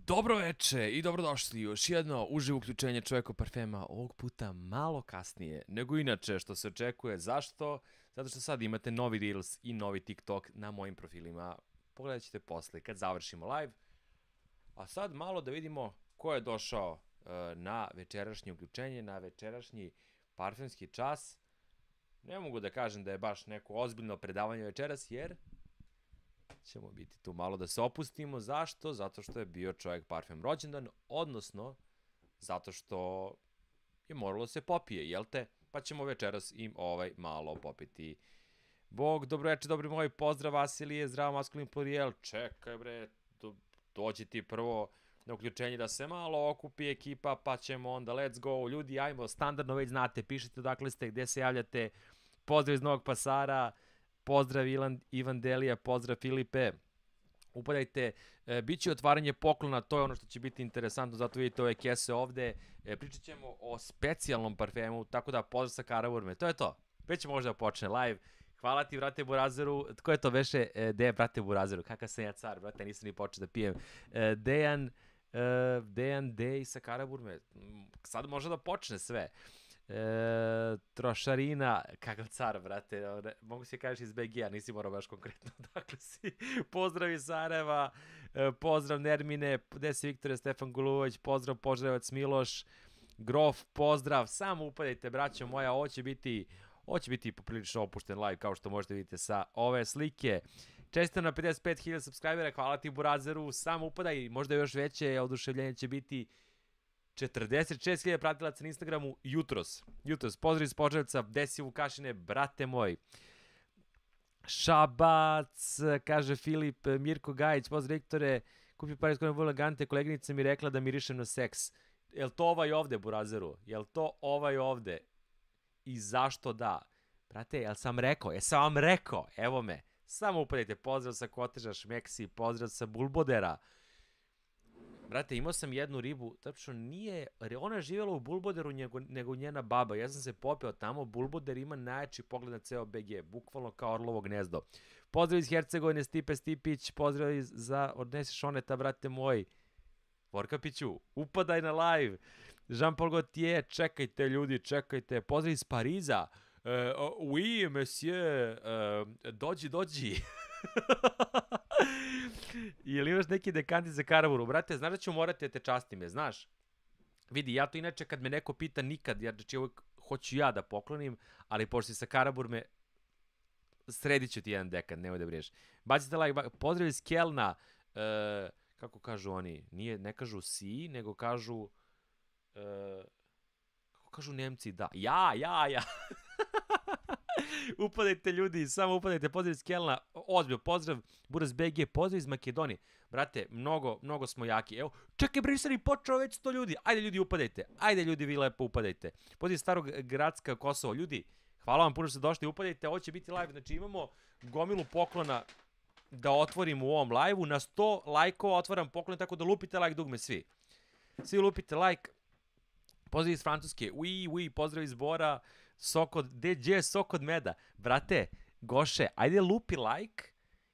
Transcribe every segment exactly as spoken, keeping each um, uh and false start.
Dobro veče i dobrodošli u još jedno uživo uključenje Čovjekov parfema, ovog puta malo kasnije nego inače što se očekuje. Zašto? Zato što sad imate novi Reels i novi TikTok na mojim profilima. Pogledat ćete posle kad završimo live. A sad malo da vidimo ko je došao uh, na večerašnje uključenje, na večerašnji parfemski čas. Ne mogu da kažem da je baš neko ozbiljno predavanje večeras jer ćemo biti tu malo da se opustimo. Zašto? Zato što je bio Čovjek parfem rođendan, odnosno zato što je moralo se popije, jel te? Pa ćemo večeras im ovaj malo popiti. Bog, dobro veče, dobri moji, pozdrav Vasilije, zdravo maskulin plurijel, čekaj bre, do, dođi ti prvo na uključenje da se malo okupi ekipa, pa ćemo onda let's go, ljudi, ajmo, standardno već znate, pišite odakle ste, gde se javljate, pozdrav iz Novog Pasara, pozdrav Ilan, Ivan Delija, pozdrav Filipe, upadajte, e, bit će otvaranje poklona, to je ono što će biti interesantno, zato vidite ove kese ovde, e, pričat ćemo o specijalnom parfemu, tako da pozdrav sa Karaburme, to je to, već možda počne live. Hvala ti, brate Burazeru. Tko je to veše? E, Dejan, brate Burazeru. Kakav sam ja car, brate, nisam ni počeo da pijem. E, Dejan, e, Dejan, Dej sa Karaburme. Sad može da počne sve. E, trošarina, kakav car, brate. Mogu se kažeš iz B G-a, nisi morao baš konkretno. Dakle si. Pozdrav iz Sarajeva, e, pozdrav Nermine, Desi Viktore, Stefan Guluvović, pozdrav Požarevac Miloš, Grof, pozdrav. Samo upadajte, braćo moja, ovo će biti... Ovo će biti poprilično opušten live, kao što možete vidjeti sa ove slike. Čestitam na pedeset pet hiljada subscribera, hvala ti Burazeru, samo upadaj, možda još veće, oduševljenje će biti četrdeset šest hiljada pratilaca na Instagramu jutros. Jutros, pozdrav iz Požarevca, Desi Vukašine, brate moj. Šabac, kaže Filip, Mirko Gajić, pozdrav Viktore, kupio par iz kojeg vrlo elegante, koleginica mi rekla da mirišem na seks. Jel to ovaj ovde, Burazeru? Jel to ovaj ovde? I zašto da? Brate, jel sam rekao? Jesam vam rekao? Evo me. Samo upadajte. Pozdrav sa Koteža, Šmeksi, pozdrav sa Bulbodera. Brate, imao sam jednu ribu, tačno nije, ona je živjela u Bulboderu nego, nego njena baba. Ja sam se popeo tamo, Bulboder ima najjači pogled na ceo B G, bukvalno kao orlovo gnezdo. Pozdrav iz Hercegovine, Stipe Stipić, pozdrav iz, za Odnesi Šoneta, brate moj. Vorkapiću, upadaj na live. Jean-Paul Gaultier, čekajte ljudi, čekajte. Pozdrav iz Pariza. Uh, oui, monsieur, uh, dođi, dođi. Ili imaš neki dekanti za Karavuru? Brate, znaš da ću morati da te častim je, znaš? Vidi, ja to inače kad me neko pita nikad, jer znači uvijek hoću ja da poklonim, ali pošto si sa Karaburme, sredit ću ti jedan dekant, nemoj da briješ. Bacite like, pozdrav iz Kelna, uh, kako kažu oni, nije, ne kažu si, nego kažu, uh, kako kažu Nemci, da, ja, ja, ja. Upadajte ljudi, samo upadajte, pozdrav iz Kelna, ozbilj, pozdrav, Buraz B G, pozdrav iz Makedonije. Brate, mnogo, mnogo smo jaki. Evo, čekaj, bre, nisam ni počeo već sto ljudi. Ajde ljudi, upadajte. Ajde ljudi, vi lepo upadajte. Pozdrav iz Starog Gradska, Kosovo. Ljudi, hvala vam puno što ste došli, upadajte, ovo će biti live. Znači imamo gomilu poklona da otvorim u ovom live-u. Na sto lajkova otvaram poklon, tako da lupite like dugme svi. Svi lupite like. Pozdrav iz Francuske. Ui, ui, pozdrav iz Bora. Sokod, gdje je Sokod Meda? Brate, Goše, ajde lupi like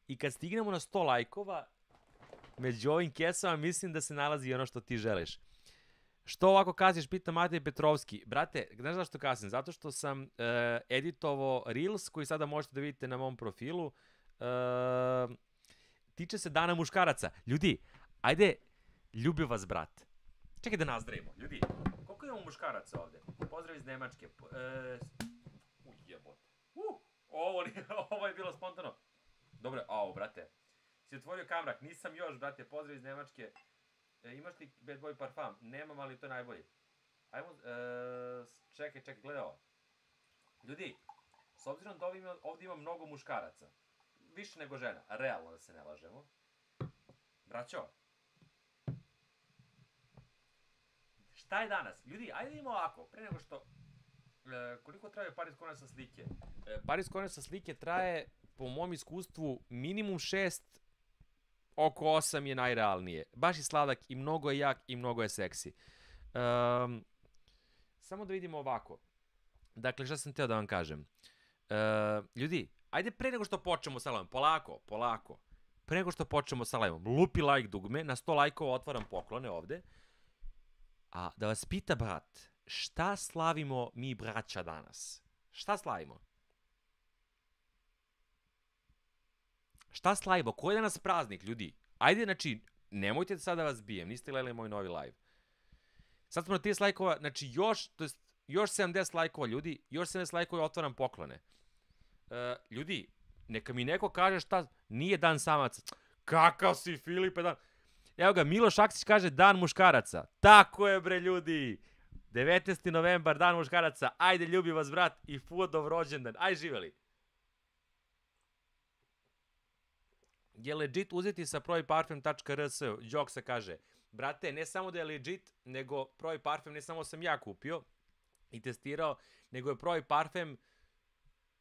i kad stignemo na sto lajkova, među ovim kesama mislim da se nalazi ono što ti želiš. Što ovako kaziš, pita Matej Petrovski. Brate, znaš zašto kasnim? Zato što sam uh, editovao Reels koji sada možete da vidite na mom profilu. Uh, tiče se Dana muškaraca. Ljudi, ajde, ljubim vas, brat. Čekaj da nazdravimo. Ljudi, koliko imamo muškaraca ovde? Pozdrav iz Nemačke. E, uj, jebote. Uh, ovo, ovo je bilo spontano. Dobro, ovo, brate. Si otvorio kamrak, nisam još, brate. Pozdrav iz Nemačke. E, imaš li Bad Boy parfum? Nemam, ali to je najbolji. Ajmo, e, čekaj, čekaj, gledaj ovo. Ljudi, s obzirom da ovdje ima, ovdje ima mnogo muškaraca, više nego žena, realno da se ne lažemo. Braćo, šta je danas? Ljudi, ajde idemo ovako, pre nego što... E, koliko traje Paris Corner sa slike? E, Paris Corner sa slike traje, po mom iskustvu, minimum šest, oko osam je najrealnije. Baš je sladak i mnogo je jak i mnogo je seksi. Um, samo da vidimo ovako. Dakle, šta sam teo da vam kažem? E, ljudi, ajde pre nego što počnemo sa live, polako, polako. pre nego što počnemo sa live-om, lupi like dugme, na sto lajkova otvaram poklone ovde. A da vas pita brat, šta slavimo mi braća danas? Šta slavimo? Šta slavimo? Koji je danas praznik, ljudi? Ajde, znači, nemojte sad da vas bijem, niste gledali moj novi live. Sad smo na trideset lajkova, znači još, to jest, još sedamdeset lajkova, ljudi, još sedamdeset lajkova otvaram poklone. Uh, ljudi, neka mi neko kaže šta, nije dan samaca. Kakav si, Filipe, dan... Evo ga, Miloš Aksić kaže dan muškaraca. Tako je, bre, ljudi. devetnaesti novembar, dan muškaraca. Ajde, ljubi vas, brat, i Fudov rođendan. Aj, živeli. Je legit uzeti sa proiparfem tačka r s. Joksa kaže, brate, ne samo da je legit, nego proiparfem ne samo sam ja kupio i testirao, nego je proiparfem,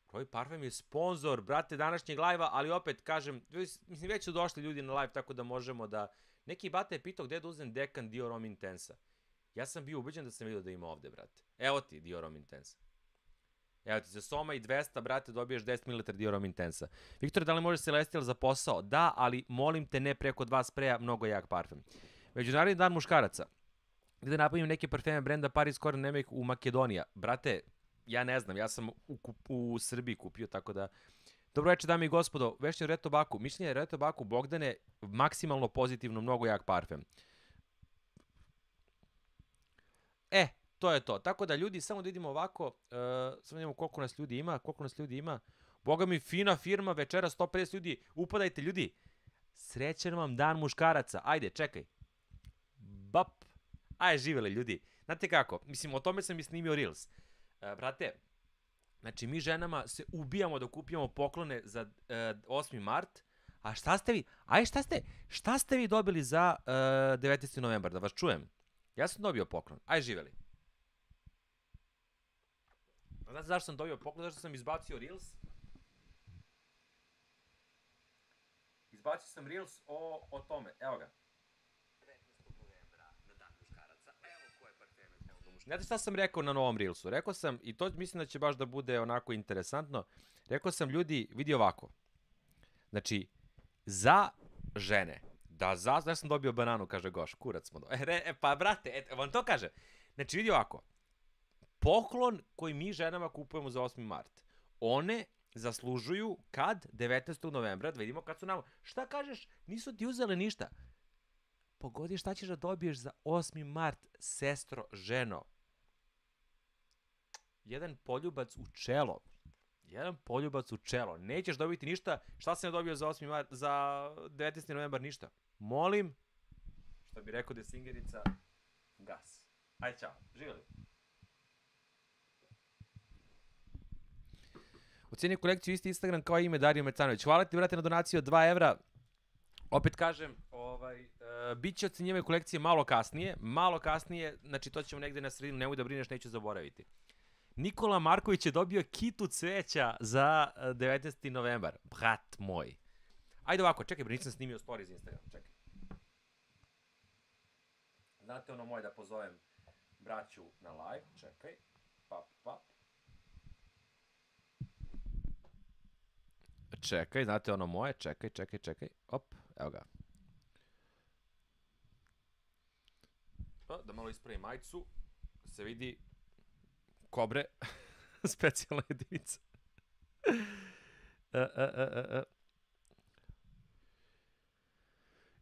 proiparfem je sponsor, brate, današnjeg live-a, ali opet, kažem, mislim, već su došli ljudi na live, tako da možemo da... Neki bata je pitao gde da uzem dekan Diorom Intensa. Ja sam bio ubeđen da sam vidio da ima ovde, brate. Evo ti Diorom Intensa. Evo ti, za Soma i dvesta, brate, dobiješ deset mililitara Diorom Intensa. Viktor, da li može Celestial za posao? Da, ali molim te ne preko dva spreja, mnogo jak parfem. Međunarodni dan muškaraca. Gde napravim neke parfeme brenda Paris Corner Nemec u Makedonija. Brate, ja ne znam, ja sam u, u Srbiji kupio, tako da... Dobro večer, dame i gospodo, vešće Red Tobacco. Mišljenje je Red Tobacco, Bogdane, maksimalno pozitivno, mnogo jak parfem. E, to je to. Tako da, ljudi, samo da vidimo ovako, uh, samo da vidimo koliko nas ljudi ima, koliko nas ljudi ima. Boga mi, fina firma, večera sto pedeset ljudi, upadajte, ljudi. Srećan vam dan muškaraca. Ajde, čekaj. Bap. Ajde, živele, ljudi. Znate kako, mislim, o tome sam i snimio Reels. Uh, brate, znači, mi ženama se ubijamo da kupimo poklone za uh, osmi mart, a šta ste vi, aj šta ste, šta ste vi dobili za uh, devetnaesti novembar, da vas čujem? Ja sam dobio poklon, aj živeli. Znate zašto sam dobio poklon, zašto sam izbacio Reels? Izbacio sam Reels o, o tome, evo ga. devetnaestog novembra na dan muškaraca, evo koje parfeme. Znate šta sam rekao na novom Reelsu? Rekao sam, i to mislim da će baš da bude onako interesantno, rekao sam, ljudi, vidi ovako. Znači, za žene, da za, da sam dobio bananu, kaže Goš, kurac smo dobili. E, e, pa, brate, et, vam to kaže. Znači, vidi ovako. Poklon koji mi ženama kupujemo za osmi mart, one zaslužuju kad? devetnaestog novembra, da vidimo kad su nam... Šta kažeš? Nisu ti uzele ništa. Pogodi šta ćeš da dobiješ za osmi mart, sestro, ženo. Jedan poljubac u čelo. Jedan poljubac u čelo. Nećeš dobiti ništa. Šta sam ja dobio za osmi mart, za devetnaesti novembar? Ništa. Molim, što bi rekao Desingerica, gas. Ajde, čao. Živjeli. Ocenio kolekciju isti Instagram kao ime Dario Mercanović. Hvala ti, brate, na donaciju od dva evra. Opet kažem, ovaj, uh, bit će ocenjivanje kolekcije malo kasnije. Malo kasnije, znači to ćemo negde na sredinu, nemoj da brineš, neću zaboraviti. Nikola Marković je dobio kitu cveća za devetnaesti novembar. Brat moj. Ajde ovako, čekaj, nisam snimio story za Instagram, čekaj. Znate ono moje da pozovem braću na live, čekaj. Pap, pap. Čekaj, znate ono moje, čekaj, čekaj, čekaj. Op, evo ga. O, da malo ispravim majicu, se vidi kobre, specijalna jedinica. e, e, e, e.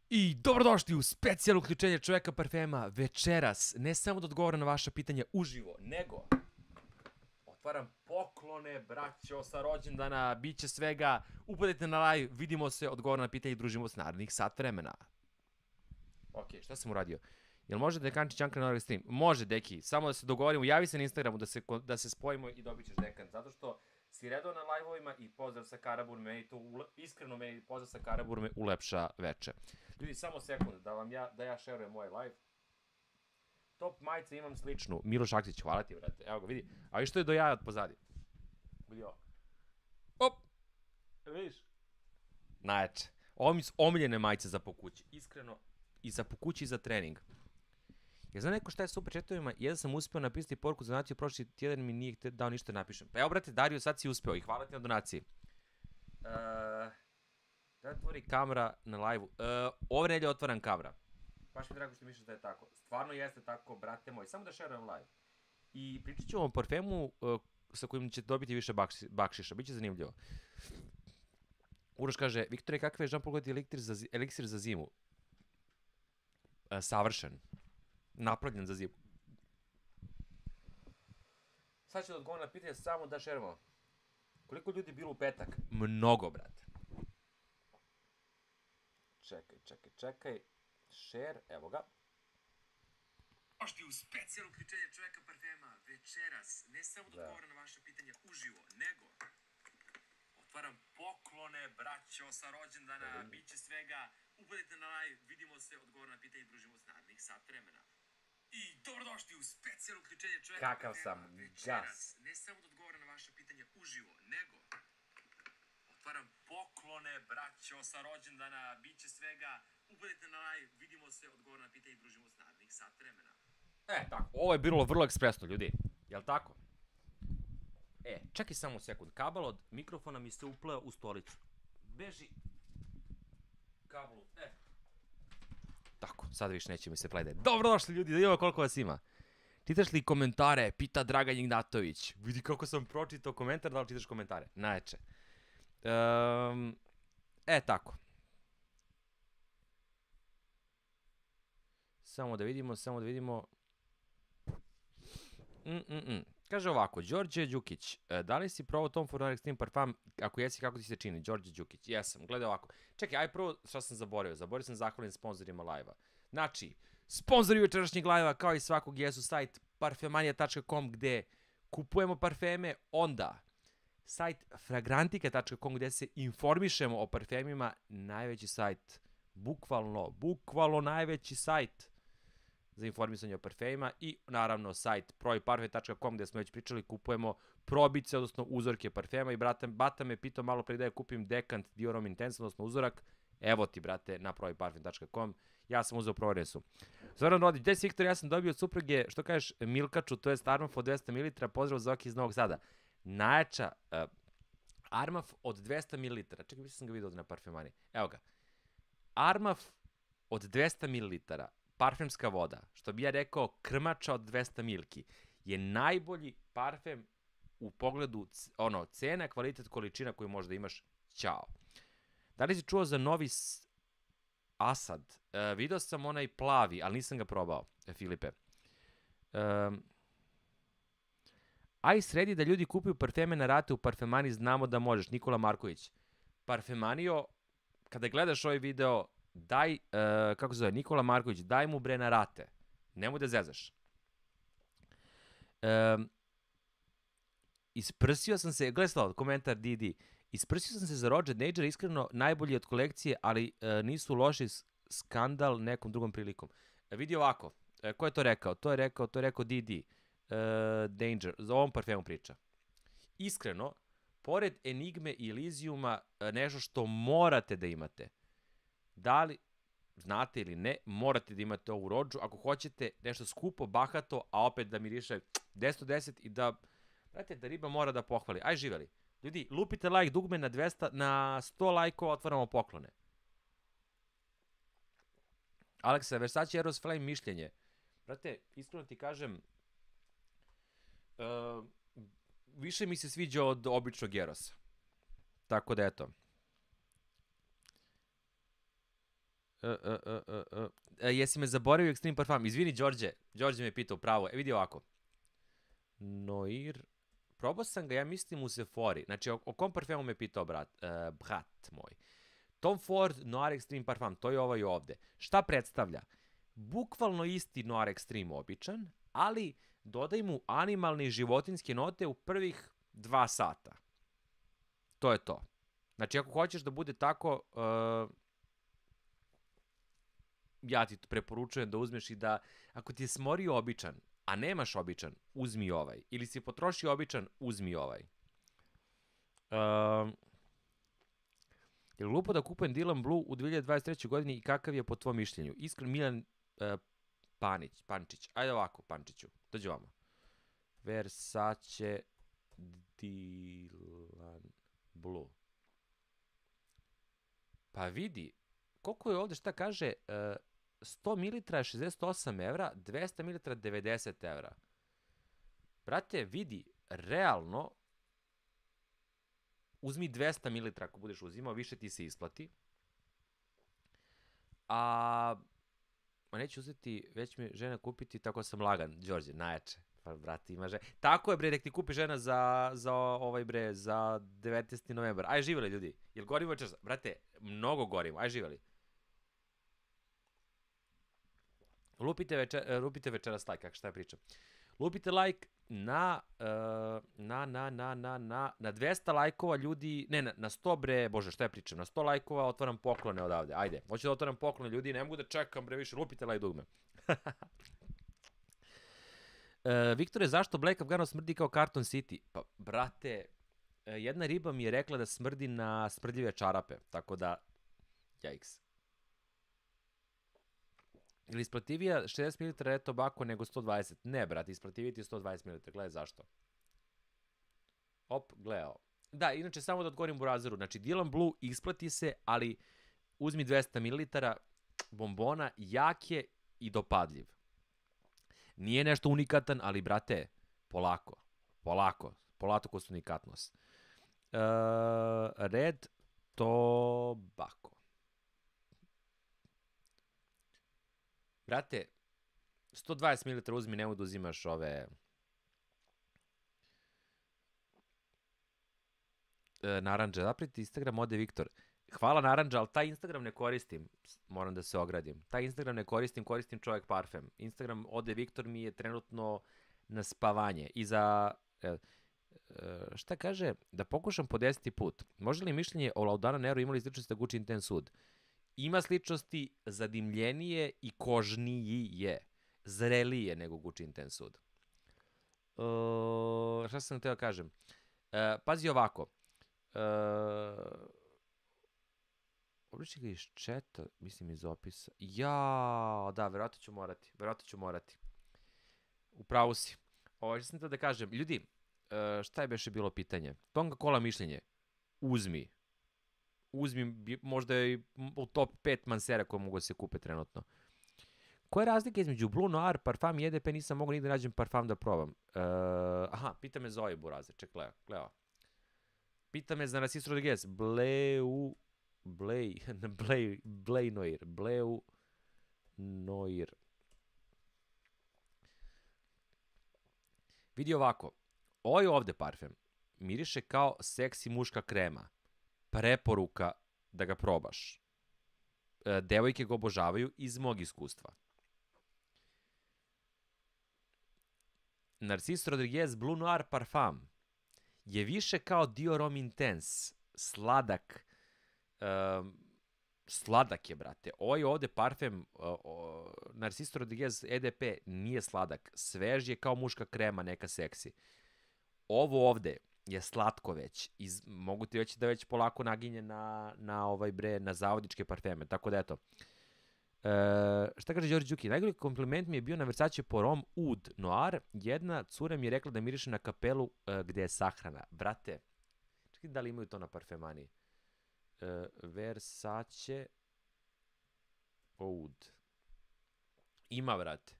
I dobrodošli u specijalno uključenje Čoveka parfema večeras. Ne samo da odgovoram na vaša pitanja uživo, nego otvaram poklone, braćo, sa rođendana, bit će svega. Upadajte na live, vidimo se, odgovoram na pitanje i družimo se narednih sat vremena. Ok, šta sam uradio? Jel može dekančić Janka na ovaj stream? Može, deki, samo da se dogovorimo, javi se na Instagramu da se, da se spojimo i dobit ćeš dekan, zato što si redao na live-ovima i pozdrav sa Karabur, meni to, ule, iskreno meni pozdrav sa Karabur me ulepša veče. Ljudi, samo sekund, da vam ja, da ja šerujem moj live. Top majice imam sličnu. Miloš Aksić, hvala ti, brate. Evo ga, vidi. A i što je do jaja od pozadi? Vidi ovo. Op! Vidiš? Najjače. Ovo mi su omiljene majice za po kući. Iskreno, i za po kući i za trening. Ja znam neko šta je sa super chatovima, jedan sam uspeo napisati poruku za donaciju, prošli tjedan mi nije dao ništa napišem. Pa evo, brate, Dario, sad si uspeo i hvala ti na donaciji. Uh, Da otvori kamera na live-u. Uh, ove nedelje otvaram kamera. Baš mi drago što misliš da je tako. Stvarno jeste tako, brate moj. Samo da šerujem live. I pričat ću vam o parfemu uh, sa kojim ćete dobiti više bakši, bakšiša. Biće zanimljivo. Uroš kaže, Viktore, kakav je Jean-Paul Gaultier eliksir za, eliksir za zimu? Uh, savršen. Napravljen za zimu. Sad ću da odgovorim na pitanje samo da šerimo. Koliko ljudi je bilo u petak? Mnogo, brate. Čekaj, čekaj, čekaj. Share, evo ga. Možete u specijalno uključenje čoveka parfema večeras, ne samo da odgovara na vaše pitanje uživo, nego otvaram poklone, braćo, sa rođendana, bit će svega. Upadite na live, vidimo se, odgovara na pitanje i družimo s narednih sat vremena. I dobrodošli u specijalno uključenje čoveka Kakav parfema sam večeras, ne samo da odgovara na vaše pitanje uživo, nego otvaram poklone, braćo, sa rođendana, bit će svega. Upadite na live, vidimo se, odgovor na pitanje i družimo s narednih sat vremena. E, tako. Ovo je bilo vrlo ekspresno, ljudi. Jel' tako? E, čekaj samo sekund. Kabel od mikrofona mi se upleo u stolicu. Beži. Kablu. E. Tako, sad više neće mi se plede. Dobrodošli, ljudi, da imamo koliko vas ima. Čitaš li komentare? Pita Dragan Ignatović. Vidi kako sam pročitao komentar, da li čitaš komentare? Najče. Um, e, tako. Samo da vidimo, samo da vidimo. Mm, mm, mm. Kaže ovako, Đorđe Đukić, da li si probao Tom Ford Extreme Parfum? Ako jesi, kako ti se čini? Đorđe Đukić, jesam, gledaj ovako. Čekaj, aj prvo šta sam zaboravio. Zaboravio sam zahvalim sponsorima live-a. Znači, sponzori večerašnjeg live-a, kao i svakog, jesu sajt parfemanija tačka com gde kupujemo parfeme, onda sajt fragrantika tačka com gde se informišemo o parfemima, najveći sajt, bukvalno, bukvalno najveći sajt za informisanje o parfemima i naravno sajt proiparfem tačka com gde smo već pričali, kupujemo probice, odnosno uzorke parfema i brate, Bata me pitao malo pre da je kupim Dekant Diorom Intense, odnosno uzorak, evo ti brate na proiparfem tačka com, ja sam uzeo proveresu. Zoran Rodić, gde si Viktor, ja sam dobio od supruge, što kažeš, Milkaču, to je Armaf od dvesta mililitara, pozdrav Zoki iz Novog Sada. Najjača uh, Armaf od dvesta mililitara, čekaj, mislim sam ga vidio na parfemani, evo ga. Armaf od dvesta mililitara, parfemska voda, što bi ja rekao krmača od dvesta milki, je najbolji parfem u pogledu ono, cena, kvalitet, količina koju možda imaš. Ćao. Da li si čuo za novi Asad? E, video sam onaj plavi, ali nisam ga probao, Filipe. Um, aj sredi da ljudi kupuju parfeme na rate u parfemani, znamo da možeš. Nikola Marković. Parfemanio, kada gledaš ovaj video, daj, uh, kako se zove, Nikola Marković, daj mu bre na rate. Nemoj da zezaš. Um, isprsio sam se, gledaj slavo, komentar D D. Isprsio sam se za Roger Nager, iskreno najbolji od kolekcije, ali uh, nisu loši, skandal nekom drugom prilikom. Uh, vidi ovako, uh, ko je to rekao? To je rekao, to je rekao D D. Uh, Danger, za ovom parfemu priča. Iskreno, pored Enigme i Elysiuma, uh, nešto što morate da imate. Da li znate ili ne, morate da imate ovu rođu. Ako hoćete nešto skupo, bahato, a opet da miriše deset od deset i da, znate, da riba mora da pohvali. Aj živeli. Ljudi, lupite like dugme na dvesta, na sto lajkova otvaramo poklone. Aleksa, Versace Eros Flame mišljenje. Brate, iskreno ti kažem, uh, više mi se sviđa od običnog Erosa. Tako da eto. Uh, uh, uh, uh, uh. Uh, jesi me zaboravio Extreme Parfum? Izvini, Đorđe. Đorđe me je pitao pravo. E, vidi ovako. Noir. Probao sam ga, ja mislim, u Sephori. Znači, o, o kom parfemu me je pitao brat, uh, brat moj. Tom Ford Noir Extreme Parfum, to je ovaj ovde. Šta predstavlja? Bukvalno isti Noir Extreme običan, ali dodaj mu animalne i životinske note u prvih dva sata. To je to. Znači, ako hoćeš da bude tako, uh, ja ti preporučujem da uzmeš i da, ako ti je smorio običan, a nemaš običan, uzmi ovaj. Ili si potrošio običan, uzmi ovaj. Um, je li glupo da kupujem Dylan Blue u dve hiljade dvadeset trećoj godini i kakav je po tvom mišljenju? Iskren Milan uh, Panić, Pančić. Ajde ovako, Pančiću. Dođi vamo. Versace Dylan Blue. Pa vidi, koliko je ovde, šta kaže, uh, sto mililitara je šezdeset osam evra, dvesta mililitara devedeset evra. Brate, vidi, realno, uzmi dvesta mililitara ako budeš uzimao, više ti se isplati. A, ma neću uzeti, već mi žena kupiti, tako sam lagan, Đorđe, najjače. Pa, brate, ima žena. Tako je, bre, nek ti kupi žena za, za ovaj, bre, za devetnaesti novembar. Aj, živeli, ljudi. Jel gorimo večeras? Brate, mnogo gorimo. Aj, živeli. Lupite, večer, lupite večeras like, kako šta ja pričam. Lupite like na, uh, na, na, na, na, na, na dvesta lajkova ljudi, ne, na, na sto bre, bože, šta ja pričam, na sto lajkova otvaram poklone odavde, ajde, hoću da otvaram poklone ljudi, ne mogu da čekam bre više, lupite like dugme. uh, Viktore, zašto Black Afghanov smrdi kao Carton City? Pa, brate, jedna riba mi je rekla da smrdi na smrdljive čarape, tako da, jajks. Ili isplativija šezdeset mililitara Red Tobacco nego sto dvadeset? Ne, brate, isplativija ti je sto dvadeset mililitara, gledaj zašto. Op, gledao. Da, inače, samo da odgovorim Burazeru, znači, Dylan Blue isplati se, ali uzmi dvesta mililitara bombona, jak je i dopadljiv. Nije nešto unikatan, ali, brate, polako, polako, polako su unikatnost. Uh, Red Tobacco. Brate, sto dvadeset mililitara uzmi, nemoj da uzimaš ove... E, naranđa, zapriti Instagram ode Viktor. Hvala naranđa, ali taj Instagram ne koristim. Moram da se ogradim. Taj Instagram ne koristim, koristim čovjek parfem. Instagram ode Viktor mi je trenutno na spavanje. I za... E, e, šta kaže? Da pokušam po deseti put. Može li mišljenje o Laudana Neru imali sličnosti da Gucci Intense Sud? Ima sličnosti, zadimljenije i kožniji je. Zrelije nego Gucci Intense Sud. Uh, šta sam htio da kažem? Uh, pazi ovako. Uh, Obliči ga iz četa, mislim iz opisa. Ja, da, verovatno ću morati. Verovatno ću morati. Upravo si. Ovo što sam htio da kažem. Ljudi, uh, šta je beše bilo pitanje? Tonga Cola mišljenje. Uzmi. Uzmi, možda je u top pet mansera koje mogu da se kupe trenutno. Koja je razlika između Blue Noir, parfum i E D P? Nisam mogu nigde nađem parfum da probam. Uh, aha, pita me Zoe Burazer, ček, gleda, gleda. Pita me za Narciso Rodriguez. Bleu, Blej, Blej, Blej Noir, Bleu Noir. Vidi ovako, ovaj ovde parfem miriše kao seksi muška krema. Preporuka da ga probaš. E, devojke ga obožavaju iz mog iskustva. Narciso Rodriguez Blue Noir Parfum je više kao Dior Homme Intense. Sladak. E, sladak je, brate. Ovaj ovde parfem o, o, Narciso Rodriguez E D P nije sladak. Svež je kao muška krema, neka seksi. Ovo ovde je slatko već. Iz, mogu ti reći da već polako naginje na, na ovaj bre, na zavodičke parfeme. Tako da eto. E, šta kaže Đorđe Đuki? Najgori kompliment mi je bio na Versace Porom Oud Noir. Jedna cura mi je rekla da miriše na kapelu e, gde je sahrana. Brate, čekaj da li imaju to na parfemani. E, Versace Oud. Ima, brate.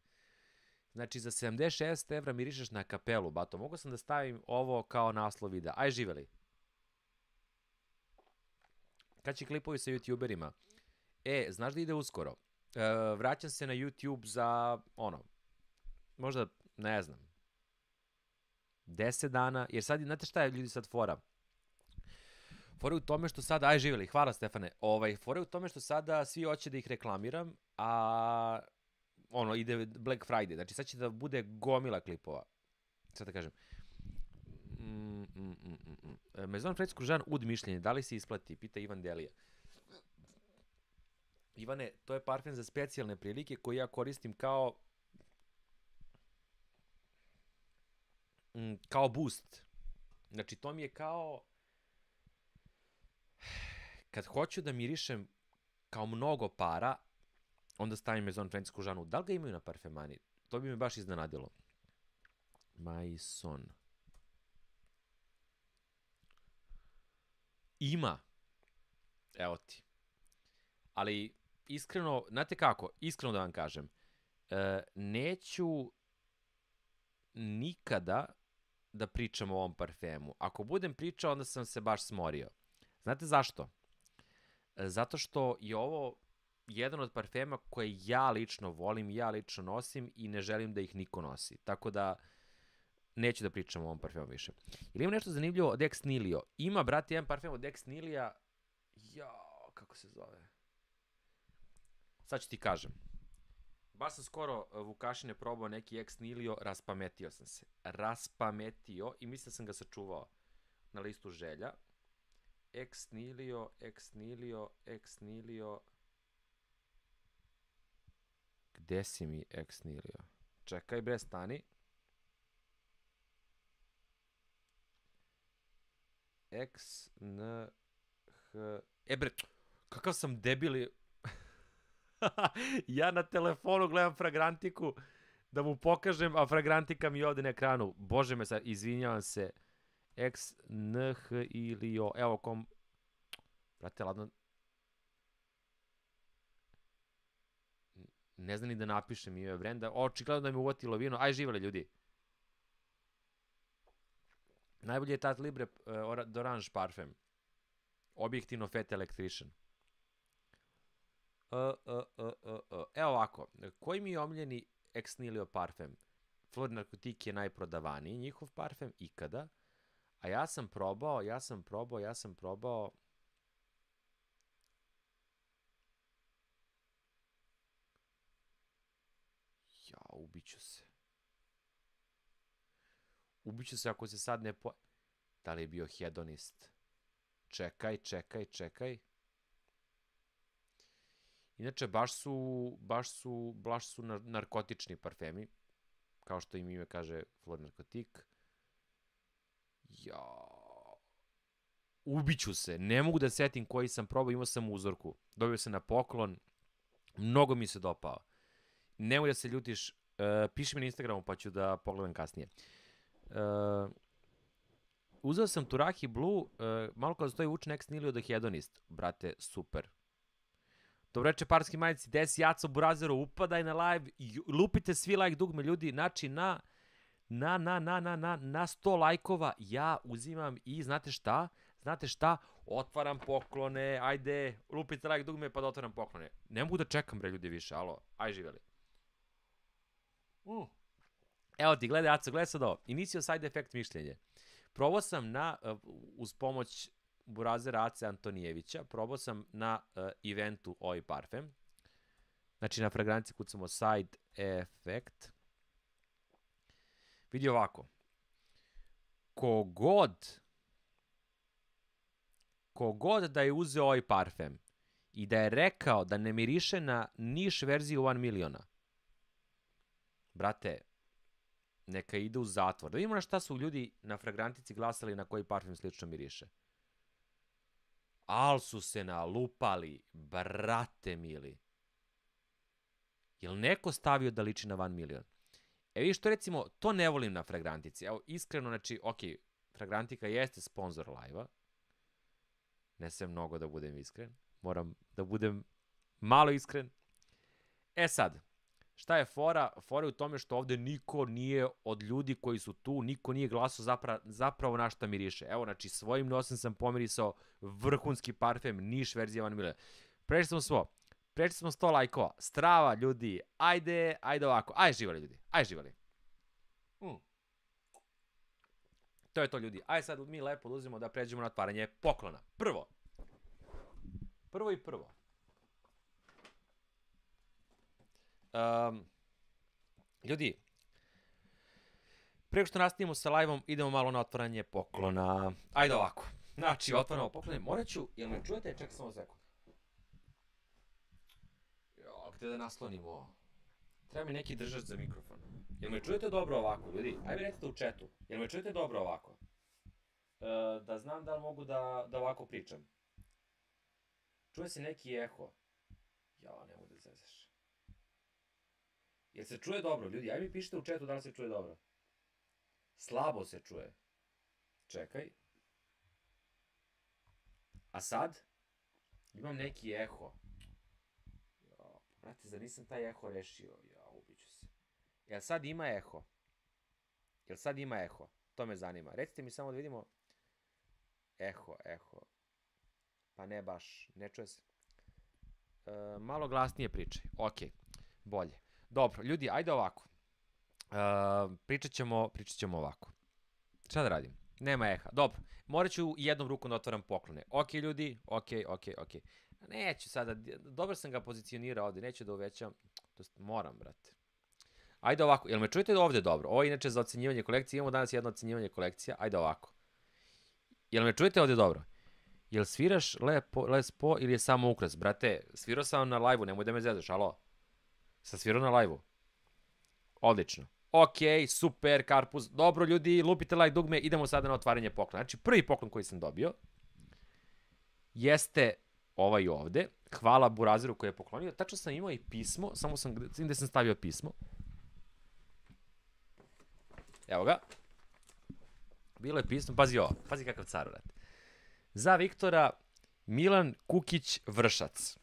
Znači, za sedamdeset šest evra mirišeš na kapelu, bato. Mogu sam da stavim ovo kao naslov videa. Aj, živeli. Kad će klipovi sa youtuberima? E, znaš da ide uskoro? E, vraćam se na YouTube za, ono, možda, ne znam, deset dana, jer sad, znate šta je ljudi sad fora? Fora je u tome što sada, aj, živeli, hvala Stefane, ovaj, fora je u tome što sada svi hoće da ih reklamiram, a... ono, ide Black Friday, znači sad će da bude gomila klipova. Sad da kažem. Mm, mm, mm, mm, mm. Maison Fred Kružan Ud mišljenje, da li se isplati? Pita Ivan Delija. Ivane, to je parfem za specijalne prilike koji ja koristim kao mm, kao boost. Znači, to mi je kao kad hoću da mirišem kao mnogo para, onda stavim Maison Francusku žanu. Da li ga imaju na parfemani? To bi me baš iznenadilo. Maison. Ima. Evo ti. Ali, iskreno, znate kako, iskreno da vam kažem, e, neću nikada da pričam o ovom parfemu. Ako budem pričao, onda sam se baš smorio. Znate zašto? E, zato što je ovo jedan od parfema koje ja lično volim, ja lično nosim i ne želim da ih niko nosi. Tako da, neću da pričam o ovom parfemu više. Ili ima nešto zanimljivo od Ex Nihilo? Ima, brate, jedan parfem od Ex Nihilija. Jao, kako se zove? Sad ću ti kažem. Baš sam skoro Vukašine probao neki Ex Nihilo, raspametio sam se. Raspametio i mislim da sam ga sačuvao na listu želja. Ex Nihilo, Ex Nihilo, Ex Nihilo. Gde si mi Ex Nihilo? Čekaj bre, stani. X, N, H... E bre, kakav sam debili. Ja na telefonu gledam Fragrantiku da mu pokažem, a Fragrantika mi je ovde na ekranu. Bože me sad, izvinjavam se. X, N, H ili O. Evo kom... Brate, ladno... Ne znam ni da napišem ime brenda. Očigledno da mi uvatilo vino. Aj, živele ljudi. Najbolji je Tat Libre uh, d'Orange parfem. Objektivno Fet Electrician. Uh, uh, uh, uh, uh. Evo ovako. Koji mi je omiljeni Ex Nihilo parfem? Flor Narkotik je najprodavaniji njihov parfem ikada. A ja sam probao, ja sam probao, ja sam probao... Ja, ubiću se. Ubiću se ako se sad ne po... Da li je bio hedonist? Čekaj, čekaj, čekaj. Inače, baš su, baš su, baš su narkotični parfemi. Kao što im ime kaže Flor Narkotik. Ja... Ubiću se. Ne mogu da setim koji sam probao, imao sam uzorku. Dobio sam na poklon. Mnogo mi se dopao. Nemoj da se ljutiš. Uh, piši mi na Instagramu pa ću da pogledam kasnije. Uh, uzeo sam Turaki Blue, uh, malo kao da stoji učen Ex Nihilo da hedonist. Brate, super. Dobro reče Parski majici, desi Jaco Burazero, upadaj na live, lupite svi like dugme ljudi, znači na, na, na, na, na, na, na sto lajkova ja uzimam i znate šta? Znate šta? Otvaram poklone, ajde, lupite like dugme pa da otvaram poklone. Ne mogu da čekam bre ljudi više, alo, aj živeli. Uh. Evo ti, gledaj, Aco, gledaj sad ovo. Inicio side effect mišljenje. Probao sam na, uh, uz pomoć Burazera Ace Antonijevića, probao sam na uh, eventu ovaj parfem. Znači na fragranci kucamo side effect. Vidi ovako. Kogod, kogod da je uzeo ovaj parfem i da je rekao da ne miriše na niš verziju One Miliona, brate, neka ide u zatvor. Da vidimo na šta su ljudi na fragrantici glasali na koji parfem slično miriše. Al su se nalupali, brate mili. Jel neko stavio da liči na One Milion? E vidiš, to recimo, to ne volim na fragrantici. Evo, iskreno, znači, ok, Fragrantika jeste sponsor live-a. Ne sve mnogo da budem iskren. Moram da budem malo iskren. E sad, šta je fora? Fora je u tome što ovde niko nije od ljudi koji su tu, niko nije glasao zapra, zapravo na šta miriše. Evo, znači, svojim nosem sam pomirisao vrhunski parfem, niš verzija One Milion. Prešli smo svo. Prešli smo sto lajkova. Strava, ljudi. Ajde, ajde ovako. Ajde živali, ljudi. Ajde živali. Mm. To je to, ljudi. Ajde sad mi lepo uzimo da pređemo na otvaranje poklona. Prvo. Prvo i prvo. Um, ljudi, preko što nastavimo sa live-om, idemo malo na otvaranje poklona. Ajde ovako. Znači, otvaramo poklone. Morat ću, jel me čujete? Čekaj samo sekund. Jo, gde da naslonimo? Treba mi neki držač za mikrofon. Jel me čujete dobro ovako, ljudi? Ajde recite u chatu. Jel me čujete dobro ovako? E, da znam da li mogu da, da ovako pričam. Čuje se neki eho. Ja, ne mogu da zezaš. Jel se čuje dobro, ljudi? Ajde mi pišite u chatu da li se čuje dobro. Slabo se čuje. Čekaj. A sad? Imam neki eho. Brate, zar nisam taj eho rešio? Ja, ubiću se. Jel sad ima eho? Jel sad ima eho? To me zanima. Recite mi samo da vidimo. Eho, eho. Pa ne baš, ne čuje se. E, malo glasnije pričaj. Ok, bolje. Dobro, ljudi, ajde ovako. E, pričat ćemo, pričat ćemo ovako. Šta da radim? Nema eha. Dobro, morat ću jednom rukom da otvaram poklone. Ok, ljudi, ok, ok, ok. Neću sada, dobro sam ga pozicionirao ovde, neću da uvećam. To moram, brate. Ajde ovako, jel me čujete da ovde dobro? Ovo je inače za ocenjivanje kolekcije, imamo danas jedno ocenjivanje kolekcija. Ajde ovako. Jel me čujete ovde dobro? Jel sviraš lepo, Les Po ili je samo ukras? Brate, svirao sam na live-u, nemoj da me zezaš, alo? Sam svirao na live-u. Odlično. Ok, super, Karpuz. Dobro, ljudi, lupite like dugme, idemo sada na otvaranje poklona. Znači, prvi poklon koji sam dobio jeste ovaj ovde. Hvala Burazeru koji je poklonio. Tačno sam imao i pismo, samo sam, gde sam stavio pismo. Evo ga. Bilo je pismo, pazi ovo, pazi kakav car, brate. Za Viktora, Milan Kukić Vršac.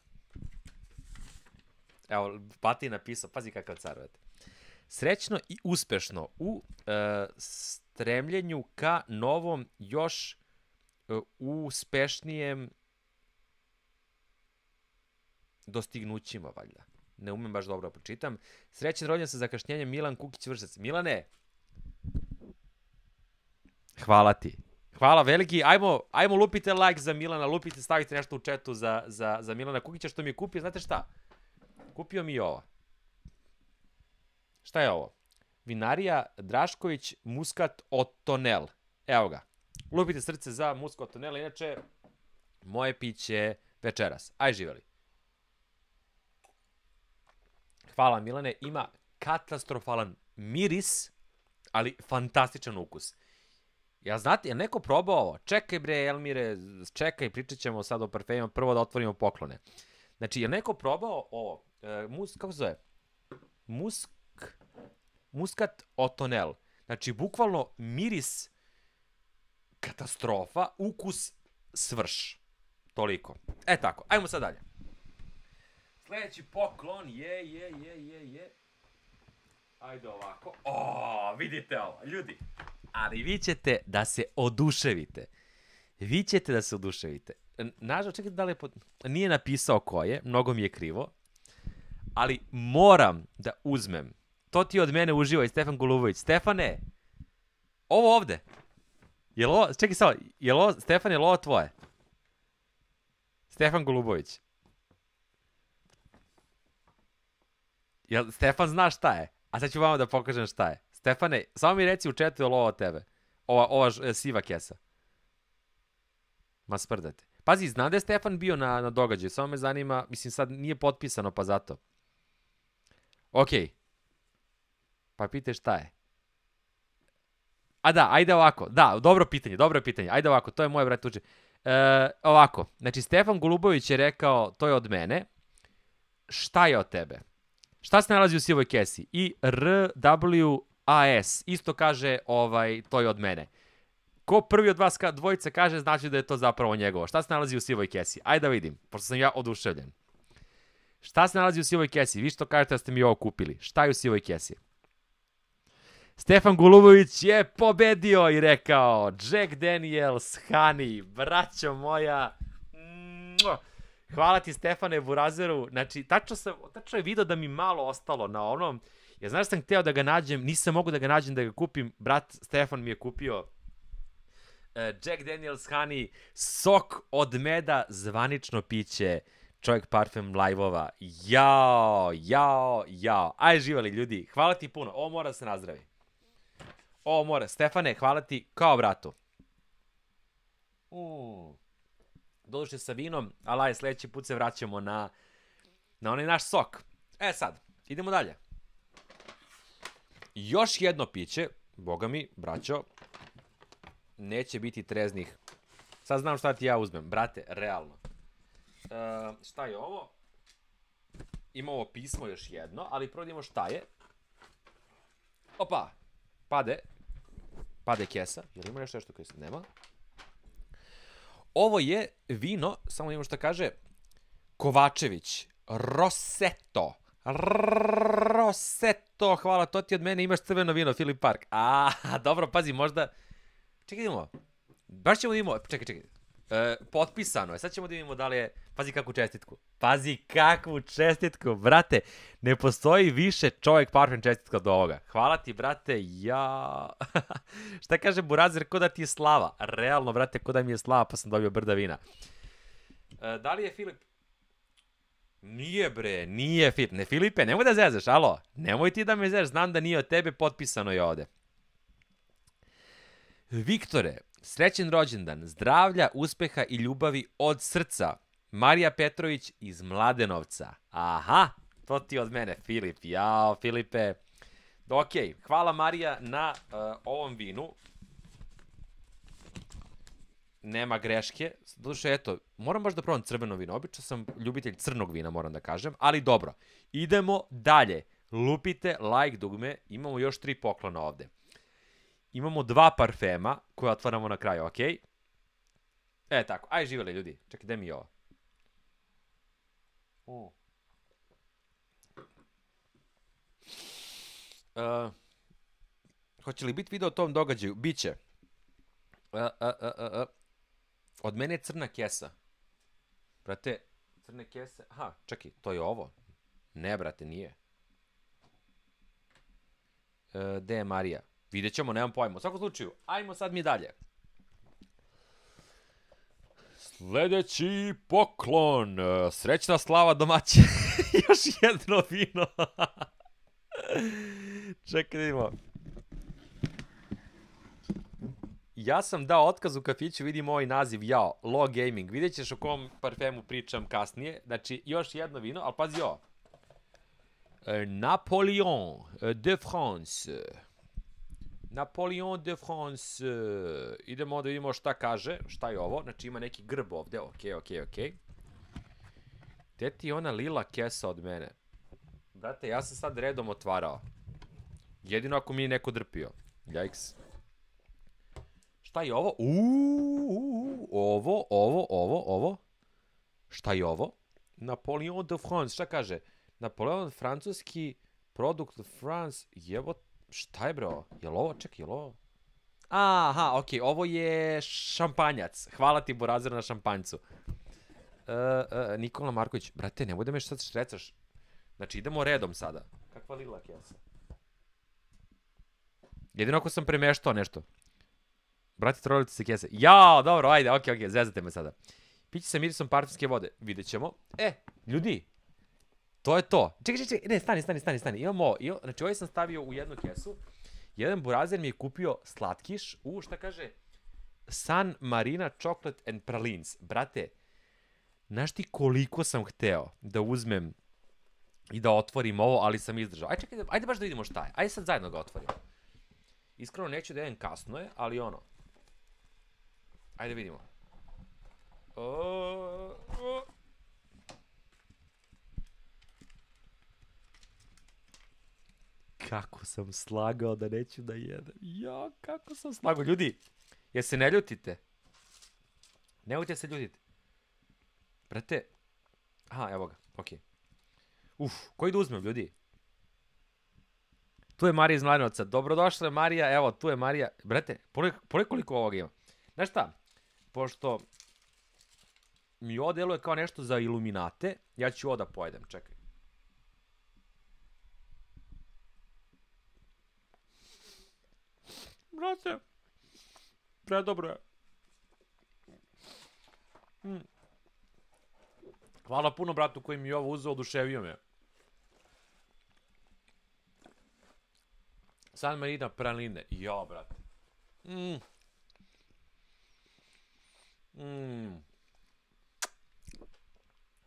Evo, Pati je napisao, pazi kakav car, brate. Srećno i uspešno u e, stremljenju ka novom, još e, uspešnijem dostignućima, valjda. Ne umem baš dobro da pročitam. Srećan rođendan sa zakašnjenjem Milan Kukić Vršac. Milane, hvala ti. Hvala veliki. Ajmo, ajmo lupite like za Milana, lupite, stavite nešto u chatu za, za, za Milana Kukića što mi je kupio. Znate šta? Kupio mi ovo. Šta je ovo? Vinarija Drašković Muskat Otonel. Evo ga. Lupite srce za Muskat Otonel. Inače, moje piće večeras. Aj živeli. Hvala Milane. Ima katastrofalan miris, ali fantastičan ukus. Ja znate, je neko probao ovo? Čekaj bre, Elmire, čekaj, pričat ćemo sad o parfemima, prvo da otvorimo poklone. Znači, je neko probao ovo? E, mus, kako se zove? Musk, muskat Otonel. Znači, bukvalno miris katastrofa, ukus svrš. Toliko. E tako, ajmo sad dalje. Sljedeći poklon je, je, je, je, je. Ajde ovako. O, vidite ovo, ljudi. Ali vi ćete da se oduševite. Vi ćete da se oduševite. Nažal, čekajte da li je pod... Nije napisao ko je, mnogo mi je krivo. Ali moram da uzmem. To ti od mene uživa i Stefan Golubović. Stefane, ovo ovde. Je li ovo, čekaj samo, je li ovo, Stefan, je li ovo tvoje? Stefan Golubović. Jel Stefan zna šta je? A sad ću vama da pokažem šta je. Stefane, samo mi reci u chatu je li ovo od tebe? Ova, ova ž, siva kesa. Ma sprdate. Pazi, znam da je Stefan bio na, na događaju, samo me zanima, mislim sad nije potpisano pa zato. Okej. Okay. Pa pitaj šta je. A da, ajde ovako. Da, dobro pitanje, dobro pitanje. Ajde ovako, to je moje, brate, tuđe. E, ovako, znači Stefan Golubović je rekao, to je od mene. Šta je od tebe? Šta se nalazi u sivoj kesi? I R W A S. Isto kaže, ovaj, to je od mene. Ko prvi od vas ka, dvojica kaže, znači da je to zapravo njegovo. Šta se nalazi u sivoj kesi? Ajde da vidim, pošto sam ja oduševljen. Šta se nalazi u sivoj kesi? Vi što kažete da ste mi ovo kupili. Šta je u sivoj kesi? Stefan Golubović je pobedio i rekao Jack Daniels Honey, braćo moja. Hvala ti Stefane Burazeru. Znači, tačno, sam, tačno je video da mi malo ostalo na onom. Ja znaš sam hteo da ga nađem, nisam mogu da ga nađem da ga kupim. Brat Stefan mi je kupio uh, Jack Daniels Honey, sok od meda, zvanično piće. Čovjek parfem live-ova. Jao, jao, jao. Aj živali ljudi, hvala ti puno. Ovo mora da se nazdravi. Ovo mora. Stefane, hvala ti kao bratu. Mm. Doduše sa vinom, ali aj sledeći put se vraćamo na, na onaj naš sok. E sad, idemo dalje. Još jedno piće, boga mi, braćo, neće biti treznih. Sad znam šta ti ja uzmem, brate, realno. E, šta je ovo? Ima ovo pismo još jedno, ali prvo da imamo šta je. Opa, pade. Pade kesa, jel ima nešto nešto koje se nema? Ovo je vino, samo imamo šta kaže, Kovačević. Rosetto. Rosetto, hvala, to ti od mene, imaš crveno vino, Filip Park. A, dobro, pazi, možda... Čekaj, idemo. Baš ćemo da imamo, čekaj, čekaj. E, potpisano je, sad ćemo da vidimo da li je... Pazi kakvu čestitku. Pazi kakvu čestitku, brate. Ne postoji više čovjek parfem čestitka od ovoga. Hvala ti, brate, ja... Šta kaže Burazer, ko da ti je slava? Realno, brate, ko da mi je slava, pa sam dobio brda vina. E, da li je Filip... Nije bre, nije Filip. Ne Filipe, nemoj da zezaš, alo. Nemoj ti da me zezaš, znam da nije od tebe, potpisano je ovde. Viktore, srećen rođendan, zdravlja, uspeha i ljubavi od srca. Marija Petrović iz Mladenovca. Aha, to ti od mene, Filip. Jao, Filipe. Ok, hvala Marija na uh, ovom vinu. Nema greške. Doduše, eto, moram baš da probam crveno vino. Obično sam ljubitelj crnog vina, moram da kažem. Ali dobro, idemo dalje. Lupite like dugme. Imamo još tri poklona ovde. Imamo dva parfema koje otvaramo na kraju, ok? E, tako. Aj, živjeli ljudi. Čekaj, gde mi je ovo? Uh. Uh, hoće li biti video o tom događaju? Biće. Uh, uh, uh, uh. Od mene je crna kesa. Brate, crne kese... Aha, čekaj, to je ovo? Ne, brate, nije. Uh, gde je Marija? Vidjet ćemo, nemam pojma. U svakom slučaju, ajmo sad mi dalje. Sljedeći poklon. Srećna slava domaće. Još jedno vino. Čekaj, vidimo. Ja sam dao otkaz u kafiću, vidim ovaj naziv, jao, Law Gaming. Vidjet ćeš o kom parfemu pričam kasnije. Znači, još jedno vino, ali pazi ovo. Napoleon de France. Napoleon de France. Idemo da vidimo šta kaže. Šta je ovo? Znači ima neki grb ovde. Ok, ok, ok. Gde ti je ona lila kesa od mene? Brate, ja sam sad redom otvarao. Jedino ako mi je neko drpio. Jajks. Šta je ovo? Uuu, ovo, ovo, ovo, ovo. Šta je ovo? Napoleon de France. Šta kaže? Napoleon francuski produkt France. Jevo. Šta je bro? Jel ovo? Čekaj, jel ovo? Aha, okej, ovo je šampanjac. Hvala ti, Burazer, na šampanjcu. Uh, uh, Nikola Marković, brate, nemoj da me sad štrecaš. Znači, idemo redom sada. Kakva lila kesa? Jedino ako sam premeštao nešto. Brate, trolite se kese. Jao, dobro, ajde, okej, okej, zezate me sada. Piće sa mirisom parfumske vode. Vidjet ćemo. E, ljudi, to je to. Čekaj, čekaj, čekaj, ne, stani, stani, stani, stani. Imamo, imamo, znači ovaj sam stavio u jednu kesu. Jedan Burazer mi je kupio slatkiš u, šta kaže, San Marina Chocolate and Pralines. Brate, znaš ti koliko sam hteo da uzmem i da otvorim ovo, ali sam izdržao. Ajde, čekaj, ajde baš da vidimo šta je. Ajde sad zajedno ga otvorimo. Iskreno neću da jedem, kasno je, ali ono. Ajde vidimo. O, o. Kako sam slagao da neću da jedem. Ja, kako sam slagao. Ljudi, jer se ne ljutite. Nemojte se ljutiti. Brate. Aha, evo ga, okej. Uf, koji da uzmem, ljudi? Tu je Marija iz Mladenovca. Dobrodošla je Marija, evo, tu je Marija. Brate, pogledaj koliko ovoga ima. Znaš šta? Pošto mi ovo deluje kao nešto za iluminate, ja ću ovo da pojedem, čekaj. Brate, predobro je. Mm. Hvala puno bratu koji mi je ovo uzeo, oduševio me. San Marina praline. Jo, brate. Mm. Mm.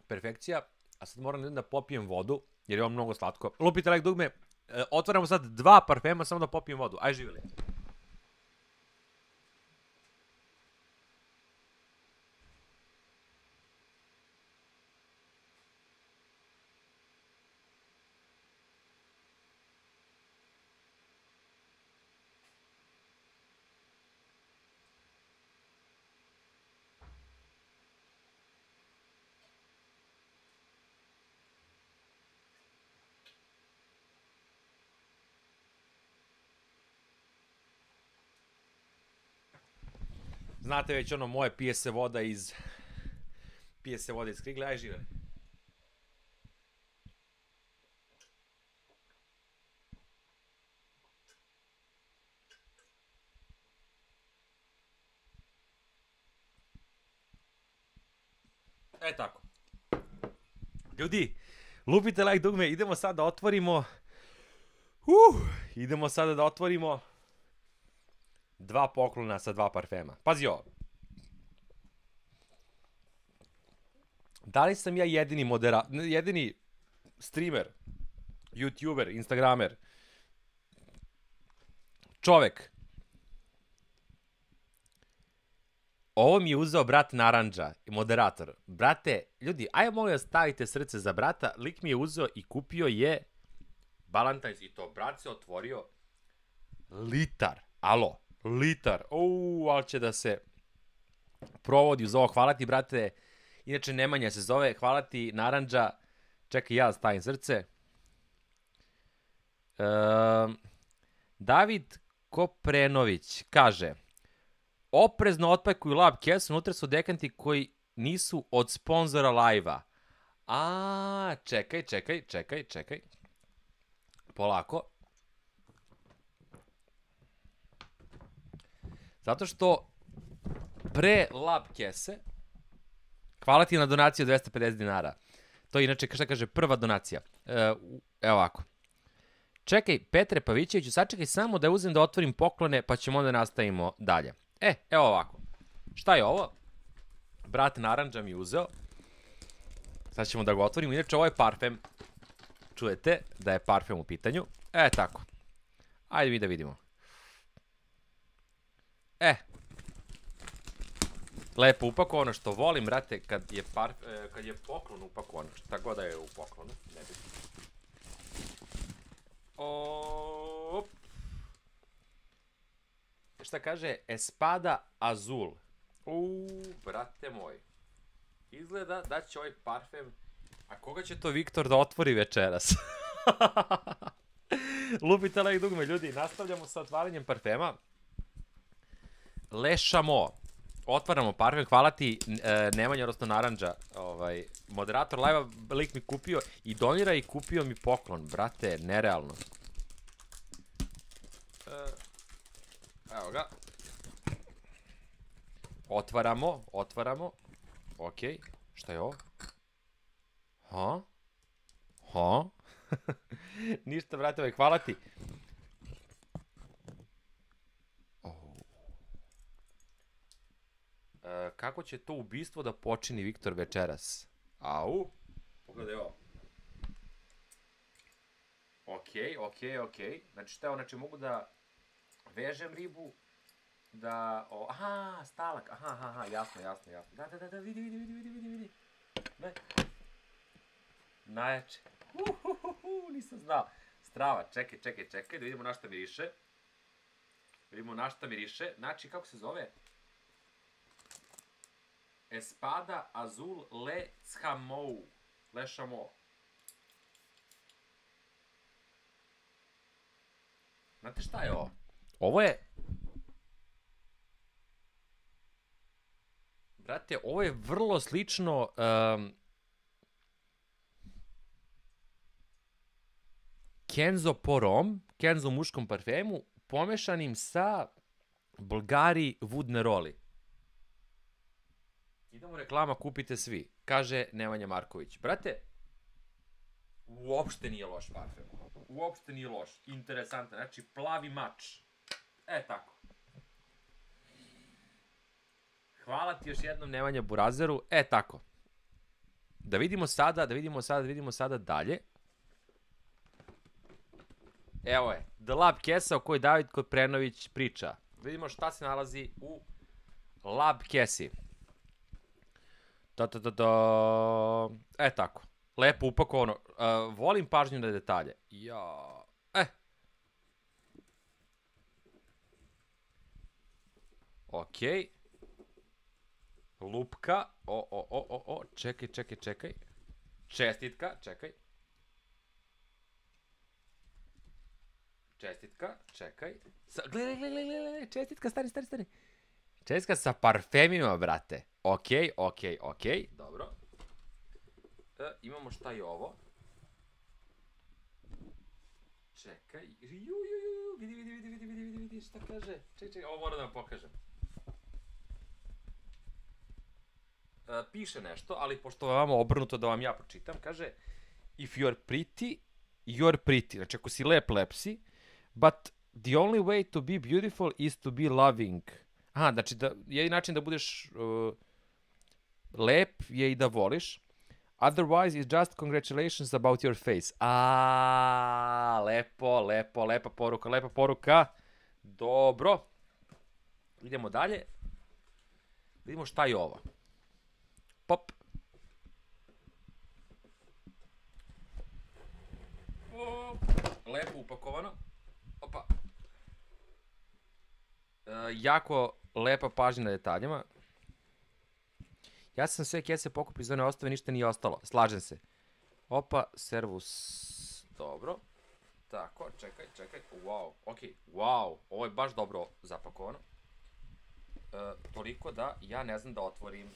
Perfekcija. A sad moram da popijem vodu, jer je ovo mnogo slatko. Lupite like dugme. E, otvaramo sad dva parfema, samo da popijem vodu. Aj, živjeli. znate već ono moje pije se voda iz... Pije se voda iz krigle, aj žive. E tako. Ljudi, lupite like dugme, idemo sad da otvorimo... Uh, idemo sada da otvorimo... Dva poklona sa dva parfema. Pazi ovo. Da li sam ja jedini modera... jedini streamer, youtuber, instagramer, čovek? Ovo mi je uzeo brat Narandža, moderator. Brate, ljudi, ajde molim da stavite srce za brata. Lik mi je uzeo i kupio je Valentine's i to brat se otvorio litar. Alo, litar. Uuu, ali će da se provodi uz ovo. Hvala ti, brate. Inače, Nemanja se zove. Hvala ti, Narandža. Čekaj, ja stavim srce. Um, David Koprenović kaže... Oprezno otpakuju lab kesu, unutra su dekanti koji nisu od sponzora live-a. A, čekaj, čekaj, čekaj, čekaj. Polako. Zato što pre lab kese, hvala ti na donaciju dvesta pedeset dinara. To je inače, šta kaže, prva donacija. E, evo ovako. Čekaj, Petre Pavićeviću, sačekaj samo da uzem da otvorim poklone, pa ćemo onda nastavimo dalje. E, evo ovako. Šta je ovo? Brat Narandža mi uzeo. Sad ćemo da ga otvorimo. Inače, ovo je parfem. Čujete da je parfem u pitanju. E, tako. Ajde mi da vidimo. E. Lepo upakovano, što volim, brate, kad je, parf, kad je poklon upakovano. Šta god da je u poklonu. Ne bi. Op. Šta kaže? Espada Azul. Uuu, brate moj. Izgleda da će ovaj parfem... A koga će to Viktor da otvori večeras? Lupite like dugme, ljudi. Nastavljamo sa otvaranjem parfema. Le Chameau. Otvaramo parfem. Hvala ti, e, Nemanja, odnosno Narandža. Ovaj, moderator live-a, lik mi kupio i donira i kupio mi poklon. Brate, nerealno. E, evo ga. Otvaramo, otvaramo. Okej, šta je ovo? Ha? Ha? Ništa, brate, hvala ti. Oh. E, kako će to ubistvo da počini Viktor večeras? Au. Pogledaj ovo. Okej, okej, okej. Znači šta je ovo? Znači mogu da vežem ribu, da... O, aha, stalak, aha, aha, aha, jasno, jasno, jasno. Da, da, da, da, vidi, vidi, vidi, vidi, vidi, vidi. Ne. Najjače. Uhuhuhu, nisam znao. Strava, čekaj, čekaj, čekaj, da vidimo na šta miriše. Da vidimo na šta miriše. Znači, kako se zove? Espada Azul Le Chameau. Le Chameau. Znate šta je ovo? Ovo je... Brate, ovo je vrlo slično... Um, Kenzo Porom, Kenzo muškom parfemu, pomešanim sa Bulgari Wood Neroli. Idemo reklama, kupite svi. Kaže Nemanja Marković. Brate, uopšte nije loš parfem. Uopšte nije loš. Interesantan. Znači, plavi mač. E, tako. Hvala ti još jednom, Nemanja Burazeru. E, tako. Da vidimo sada, da vidimo sada, da vidimo sada dalje. Evo je, The Lab kesa o kojoj David Koprenović priča. Vidimo šta se nalazi u Lab kesi. Ta, ta, ta, ta. E, tako. Lepo upakovano. Uh, volim pažnju na detalje. Ja. E. Okej. Lupka. O, o, o, o, o. Čekaj, čekaj, čekaj. Čestitka, čekaj. Čestitka, čekaj. Sa, gledaj, gledaj, gledaj, gledaj, čestitka, stani, stani, stani. Česka sa parfemima, brate. Okej, okej, okej, dobro. E, imamo šta je ovo? Čekaj, ju, ju, ju, vidi, vidi, vidi, vidi, vidi, vidi, šta kaže? Čekaj, čekaj, ovo moram da vam pokažem. E, piše nešto, ali pošto vam obrnuto da vam ja pročitam, kaže if you're pretty, you're pretty. Znači, ako si lep, lep si, but the only way to be beautiful is to be loving. Aha, znači, da, jedin način da budeš uh, lep je i da voliš. Otherwise, it's just congratulations about your face. A, lepo, lepo, lepa poruka, lepa poruka. Dobro. Idemo dalje. Vidimo šta je ovo. Pop. O, lepo upakovano. Opa. E, jako lepa pažnja na detaljima. Ja sam sve kese pokupio iz one ostave, ništa nije ostalo. Slažem se. Opa, servus. Dobro. Tako, čekaj, čekaj. Wow, okej, okay. Wow. Ovo je baš dobro zapakovano. E, toliko da ja ne znam da otvorim.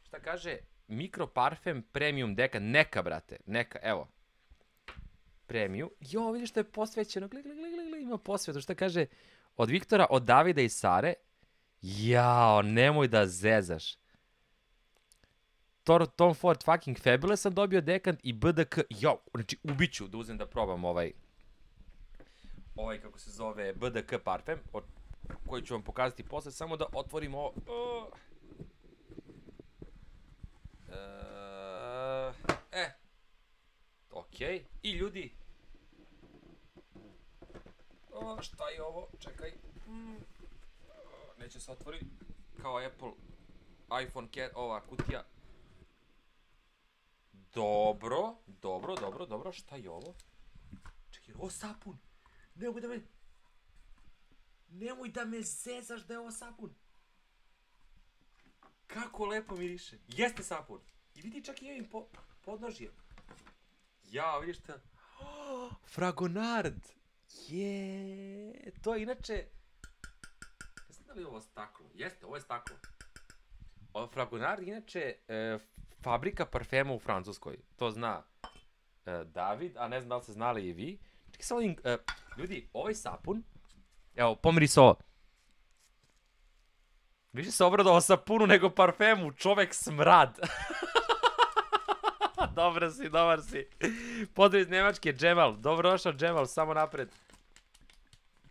Šta kaže? Mikroparfem Premium Deka. Neka, brate. Neka, evo. Premium. Jo, vidiš što je posvećeno. Gledaj, gledaj, gledaj, ima posvetu. Šta kaže? Od Viktora, od Davida i Sare. Jao, nemoj da zezaš. Tom Ford fucking Fabulous sam dobio dekant i B D K. Jo, znači ubiću da uzem da probam ovaj ovaj kako se zove B D K parfem, koji ću vam pokazati posle, samo da otvorim ovo. Uh. Uh, e, okej. Okay. I ljudi, o, šta je ovo? Čekaj. Mm. Neće se otvori kao Apple iPhone, ova kutija. Dobro, dobro, dobro, dobro, šta je ovo? Čekaj, ovo sapun. Nemoj da me... Nemoj da me zezaš da je ovo sapun. Kako lepo miriše. Jeste sapun. I vidi čak i ovim po, podnožje. Jao, vidiš šta? Oh, Fragonard. Je, to je inače... Ne znam da li je ovo staklo. Jeste, ovo je staklo. Ovo Fragonard inače... E, fabrika parfema u Francuskoj. To zna uh, David, a ne znam da li ste znali i vi. Čekaj sa ovim, uh, ljudi, ovaj sapun, evo, pomiri se ovo. Više se obradao sapunu nego parfemu, čovek smrad. Dobar si, dobar si. Pozdrav iz Nemačke, Džemal. Dobro došao, Džemal, samo napred.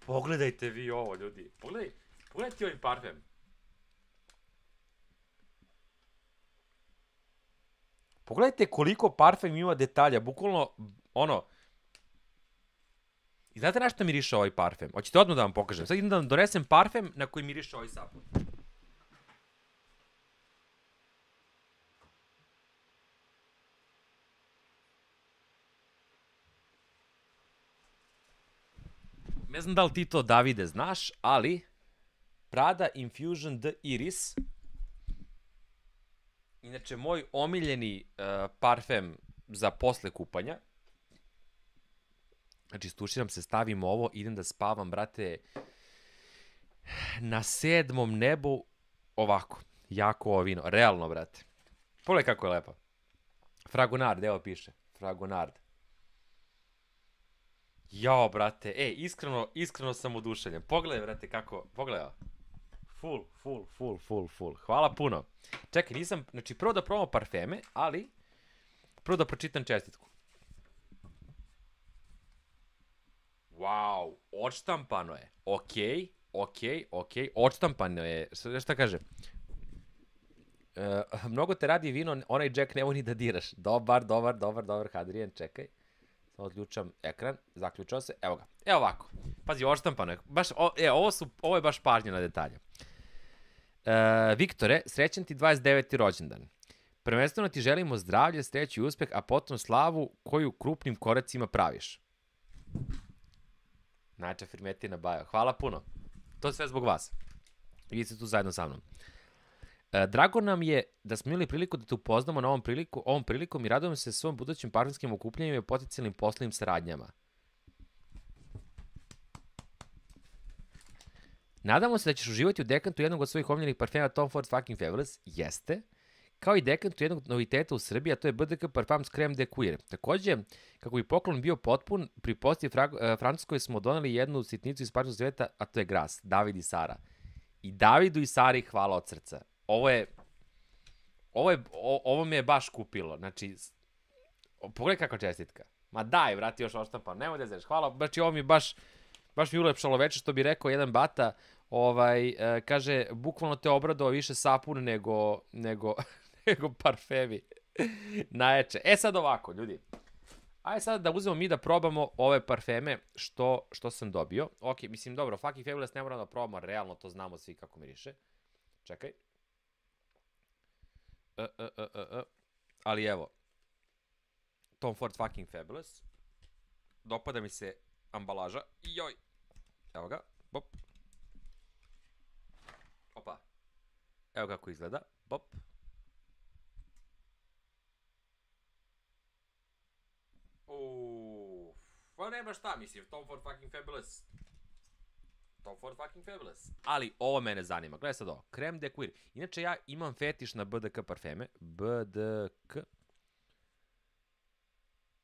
Pogledajte vi ovo, ljudi. Pogledaj, pogledajte ovaj parfem. Pogledajte koliko parfem ima detalja, bukvalno, ono... I znate na što miriše ovaj parfem? Hoćete odmah da vam pokažem. Sad idem da vam donesem parfem na koji miriše ovaj sapun. Ne znam da li ti to, Davide, znaš, ali... Prada Infusion de Iris... Inače, moj omiljeni uh, parfem za posle kupanja. Znači, stuširam se, stavim ovo, idem da spavam, brate, na sedmom nebu, ovako, jako ovo vino, realno, brate. Pogledaj kako je lepa. Fragonard, evo piše, Fragonard. Jao, brate, e, iskreno, iskreno sam oduševljen. Pogledaj, brate, kako, pogledaj. Full, full, full, full, full. Hvala puno. Čekaj, nisam, znači prvo da probamo parfeme, ali prvo da pročitam čestitku. Wow, odštampano je. Okej, okej, okej, odštampano je. Šta kaže? E, mnogo te radi vino, onaj Jack nemoj ni da diraš. Dobar, dobar, dobar, dobar, Hadrian, čekaj. Samo odključam ekran, zaključao se, evo ga. Evo ovako. Pazi, odštampano je. Baš, o, e, ovo, su, ovo je baš pažnja na detalje. Uh, Viktore, srećan ti dvadeset deveti rođendan. Prvenstveno ti želimo zdravlje, sreću i uspeh, a potom slavu koju krupnim koracima praviš. Najča Firmetina Bajo. Hvala puno. To je sve zbog vas. Vi ste tu zajedno sa mnom. Uh, drago nam je da smo imali priliku da te upoznamo na ovom, priliku, ovom prilikom i radujemo se svojom budućim parfemskim okupljanjima i potencijalnim poslovnim saradnjama. Nadamo se da ćeš uživati u dekantu jednog od svojih omiljenih parfema Tom Ford Fucking Fabulous. Jeste. Kao i dekantu jednog noviteta u Srbiji, a to je B D K Parfums Creme de Cuir. Takođe, kako bi poklon bio potpun, pri posti Fra- Francuskoj smo doneli jednu sitnicu iz parfumskog sveta, a to je Gras, David i Sara. I Davidu i Sari hvala od srca. Ovo je, ovo je, o, ovo me je baš kupilo. Znači, pogledaj kakva čestitka. Ma daj, vrati još oštampan, nemoj da zeš. Hvala, znači ovo mi je baš, baš mi ulepšalo veče, što bi rekao jedan bata, ovaj, e, kaže, bukvalno te obradao više sapun nego, nego, nego parfemi. Najjače. E sad ovako, ljudi. Ajde sad da uzmemo mi da probamo ove parfeme što, što sam dobio. Ok, mislim, dobro, Fucking Fabulous ne moramo da probamo, realno to znamo svi kako miriše. Čekaj. E, e, e, e, e. Ali evo. Tom Ford Fucking Fabulous. Dopada mi se ambalaža. Joj. Evo ga. Bop. Opa. Evo kako izgleda. Bop. Uff. Pa nema šta, mislim. Tom Ford Fucking Fabulous. Tom Ford Fucking Fabulous. Ali ovo mene zanima. Gledaj sad ovo. Creme de Cuir. Inače ja imam fetiš na B D K parfeme. B D K.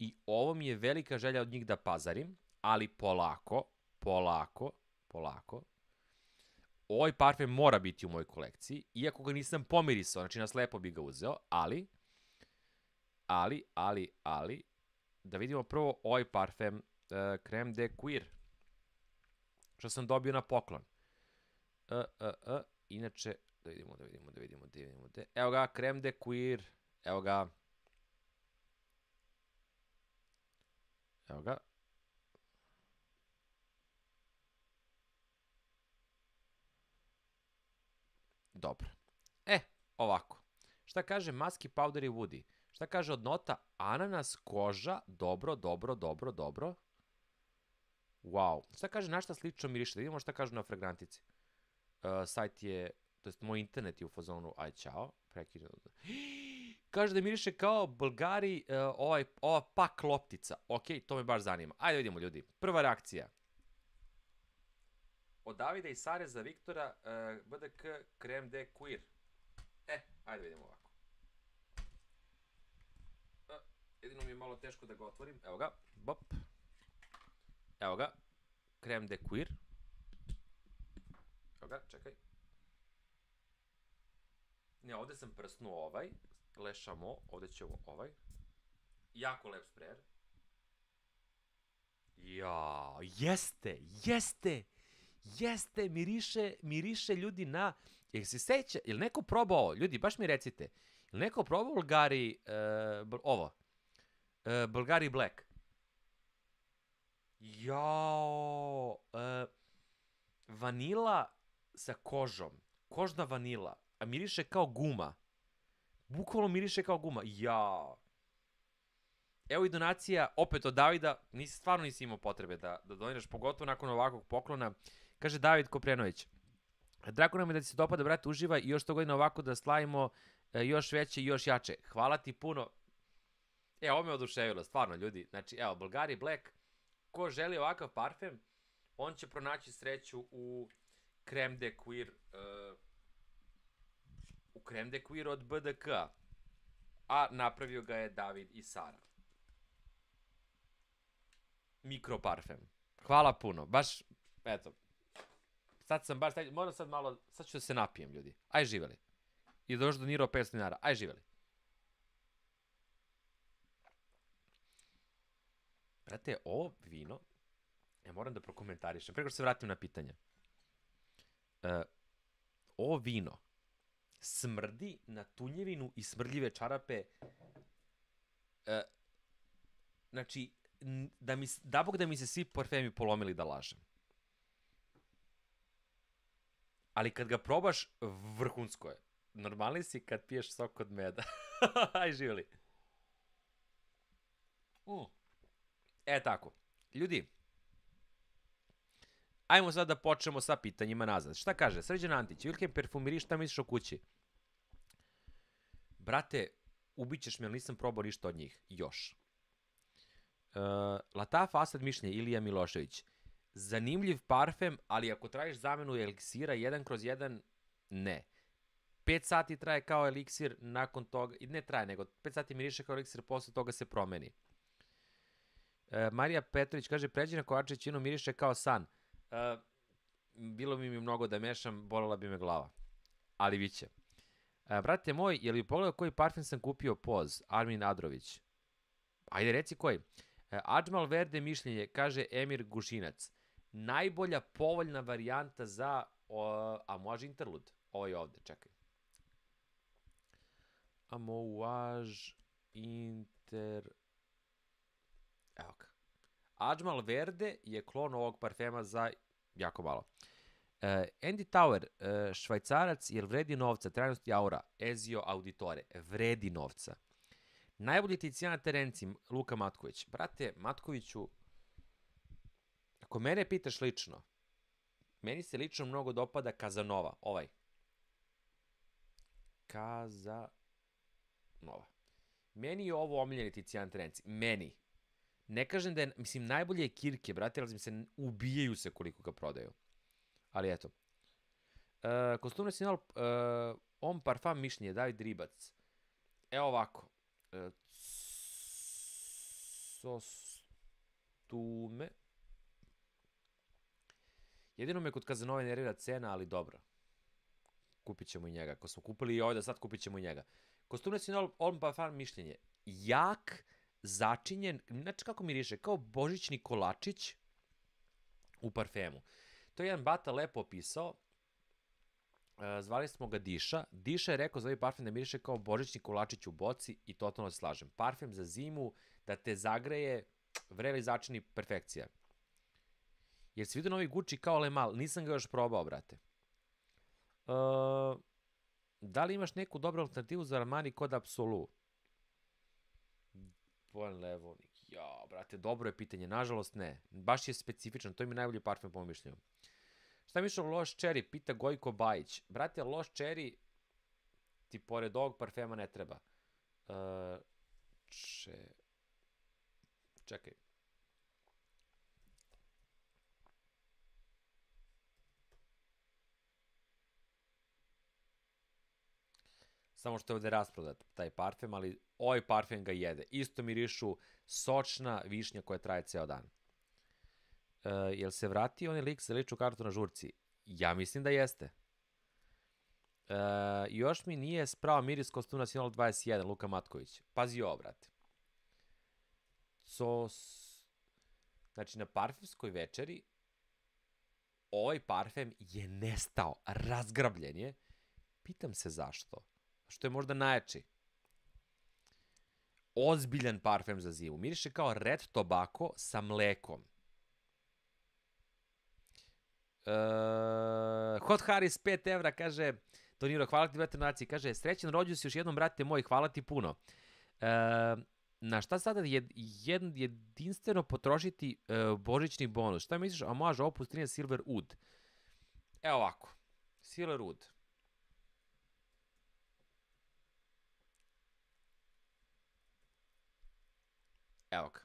I ovo mi je velika želja od njih da pazarim, ali polako, polako, polako. Ovaj parfem mora biti u mojoj kolekciji, iako ga nisam pomirisao, znači na slepo bi ga uzeo, ali, ali, ali, ali, da vidimo prvo ovaj parfem, uh, Creme de Cuir, što sam dobio na poklon. Uh, uh, uh, inače, da vidimo, da vidimo, da vidimo, da vidimo, da... Evo ga, Creme de Cuir, evo ga, evo ga. Dobro. E, ovako. Šta kaže Musky Powder i Woody? Šta kaže od nota? Ananas, koža, dobro, dobro, dobro, dobro. Wow. Šta kaže na šta slično miriše? Da vidimo šta kažu na fragrantici. Uh, sajt je, to jest moj internet je u fazonu, aj čao. Prekidno. Kaže da miriše kao Bulgari, uh, ovaj, ova pak loptica. Ok, to me baš zanima. Ajde vidimo, ljudi. Prva reakcija. Od Davida i Sare za Viktora, uh, B D K Creme de Cuir. E, ajde vidimo ovako. Uh, jedino mi je malo teško da ga otvorim. Evo ga. Bop. Evo ga. Creme de Cuir. Evo ga, čekaj. Ne, ovde sam prsnuo ovaj. Le Chameau, ovde ćemo ovaj. Jako lep sprayer. Ja, jeste, jeste, jeste, miriše, miriše ljudi na... Jel se seća, jel neko probao ovo? Ljudi, baš mi recite. Jel neko probao Bulgari, uh, ovo? Uh, Bulgari Black. Jao, uh, vanila sa kožom. Kožna vanila. A miriše kao guma. Bukvalno miriše kao guma. Jao. Evo i donacija, opet od Davida. Nisi, stvarno nisi imao potrebe da, da doniraš, pogotovo nakon ovakvog poklona. Kaže David Koprenović. Drago nam je da ti se dopada, brate, uživaj i još sto godina ovako da slavimo e, još veće i još jače. Hvala ti puno. E, ovo me oduševilo, stvarno, ljudi. Znači, evo, Bulgari Black. Ko želi ovakav parfem, on će pronaći sreću u Creme de Cuir, uh, u Creme de Cuir od B D K, a napravio ga je David i Sara. Mikroparfem. Hvala puno, baš, eto, sad sam baš, moram sad malo, sad ću da se napijem, ljudi. Aj živeli. I da još donirao petsto dinara, aj živeli. Brate, ovo vino, ja moram da prokomentarišem, preko što se vratim na pitanje. Uh, ovo vino smrdi na tunjevinu i smrdljive čarape. Uh, znači, da, mi, da bog da mi se svi parfemi polomili da lažem. Ali kad ga probaš, vrhunsko je. Normalni si kad piješ sok od meda. Aj, živjeli. Mm. E, tako. Ljudi, ajmo sad da počnemo sa pitanjima nazad. Šta kaže? Srđan Antić, Wilhelm Perfumiri, šta misliš o kući? Brate, ubićeš me, ali nisam probao ništa od njih. Još. Uh, Lataf Asad mišljenje, Ilija Milošević. zanimljiv parfem, ali ako tražiš zamenu eliksira jedan kroz jedan, ne. pet sati traje kao eliksir, nakon toga, ne traje, nego pet sati miriše kao eliksir, posle toga se promeni. E, Marija Petrović kaže, Pređena Kovačević miriše kao san. E, bilo bi mi mnogo da mešam, bolela bi me glava. Ali biće. E, brate moj, je li pogledao koji parfem sam kupio poz? Armin Adrović. Ajde, reci koji. E, Adžmal Verde mišljenje, kaže Emir Gušinac. Najbolja povoljna varijanta za, o, a može Interlud? Ovo je ovde, čekaj. Amouage Inter... Evo ga. Adžmal Verde je klon ovog parfema za jako malo. Uh, Andy Tower, uh, švajcarac, jer vredi novca, trajnost i aura, Ezio Auditore, vredi novca. Najbolji Ticijana Terenci, Luka Matković. Brate, Matkoviću, ako mene pitaš lično, meni se lično mnogo dopada Kazanova, ovaj. Kazanova. Meni je ovo omiljeni Ticijana Terenci, meni. Ne kažem da je, mislim, najbolje je Kirke, brate, ali se ubijaju se koliko ga prodaju. Ali eto. Uh, Kostum nacional, uh, on parfum mišljenje, David Ribac. Evo ovako. Uh, Sostume. Jedino me kod Kazanove nervira cena, ali dobro. Kupit ćemo i njega. Ako smo kupili i ovdje, sad kupit ćemo i njega. Kostum nacional, on parfum mišljenje. Jak, začinjen, znači kako miriše, kao božićni kolačić u parfemu. To je jedan bata lepo opisao, uh, zvali smo ga Diša. Diša je rekao za ovaj parfem da miriše kao božićni kolačić u boci i totalno se slažem. Parfem za zimu, da te zagreje, vreli začini, perfekcija. Jer si vidio novi Gucci kao Le Mal, nisam ga još probao, brate. Uh, da li imaš neku dobru alternativu za Armani kod Absolu? Pojan Levovnik. Ja, brate, dobro je pitanje. Nažalost, ne. Baš je specifičan. To je mi najbolji parfem po mišljenju. Šta mišljam o Lost Cherry? Pita Gojko Bajić. Brate, Lost Cherry ti pored ovog parfema ne treba. Uh, če... Čekaj. Samo što je ovde rasprodat taj parfem, ali ovaj parfem ga jede. Isto mirišu sočna višnja koja traje ceo dan. Uh, jel se vratio onaj lik za ličnu kartu na žurci? Ja mislim da jeste. Uh, još mi nije sprao miris Kostum nacional dvadeset jedan, Luka Matković. Pazi ovo, brate. Sos... Znači, na parfemskoj večeri ovaj parfem je nestao, razgrabljen je. Pitam se zašto. Što je možda najjači. Ozbiljan parfem za zimu. Miriše kao red tobacco sa mlekom. Uh, Hot Harris pet evra kaže, Toniro, hvala ti brate naciji, kaže, srećan rođu si još jednom brate moj, hvala ti puno. Uh, na šta sada jed, jed, jedinstveno potrošiti uh, božićni bonus? Šta misliš, a može opus trinaest Silver Oud? Evo ovako, Silver Oud. Evo ga.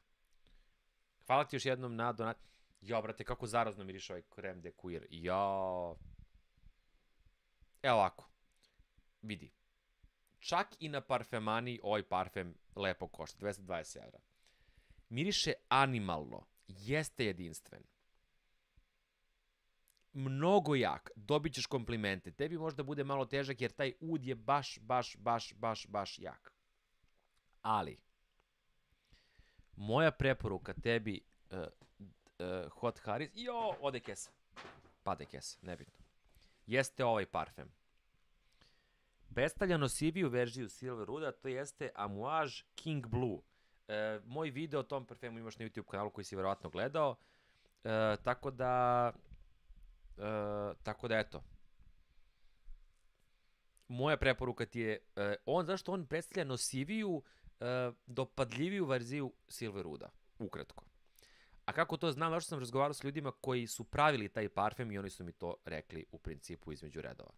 Hvala ti još jednom na donat... Jo, brate, kako zarazno miriše ovaj krem de cuir. Jo. Evo ovako. Vidi. Čak i na parfemani ovaj parfem lepo košta. dvesta dvadeset evra. Miriše animalno. Jeste jedinstven. Mnogo jak. Dobit ćeš komplimente. Tebi možda bude malo težak jer taj ud je baš, baš, baš, baš, baš jak. Ali... Moja preporuka tebi, uh, uh, Hot Harris, jo, ode kesa, pade kesa, nebitno, jeste ovaj parfem. Predstavlja nosiviju verziju Silver Ouda, to jeste Amouage King Blue. E, moj video o tom parfemu imaš na YouTube kanalu koji si verovatno gledao, e, tako da, e, tako da eto. Moja preporuka ti je, e, on, zašto on predstavlja nosiviju, Uh, dopadljiviju verziju Silver Ouda, ukratko. A kako to znam, zašto sam razgovarao s ljudima koji su pravili taj parfem i oni su mi to rekli u principu između redova.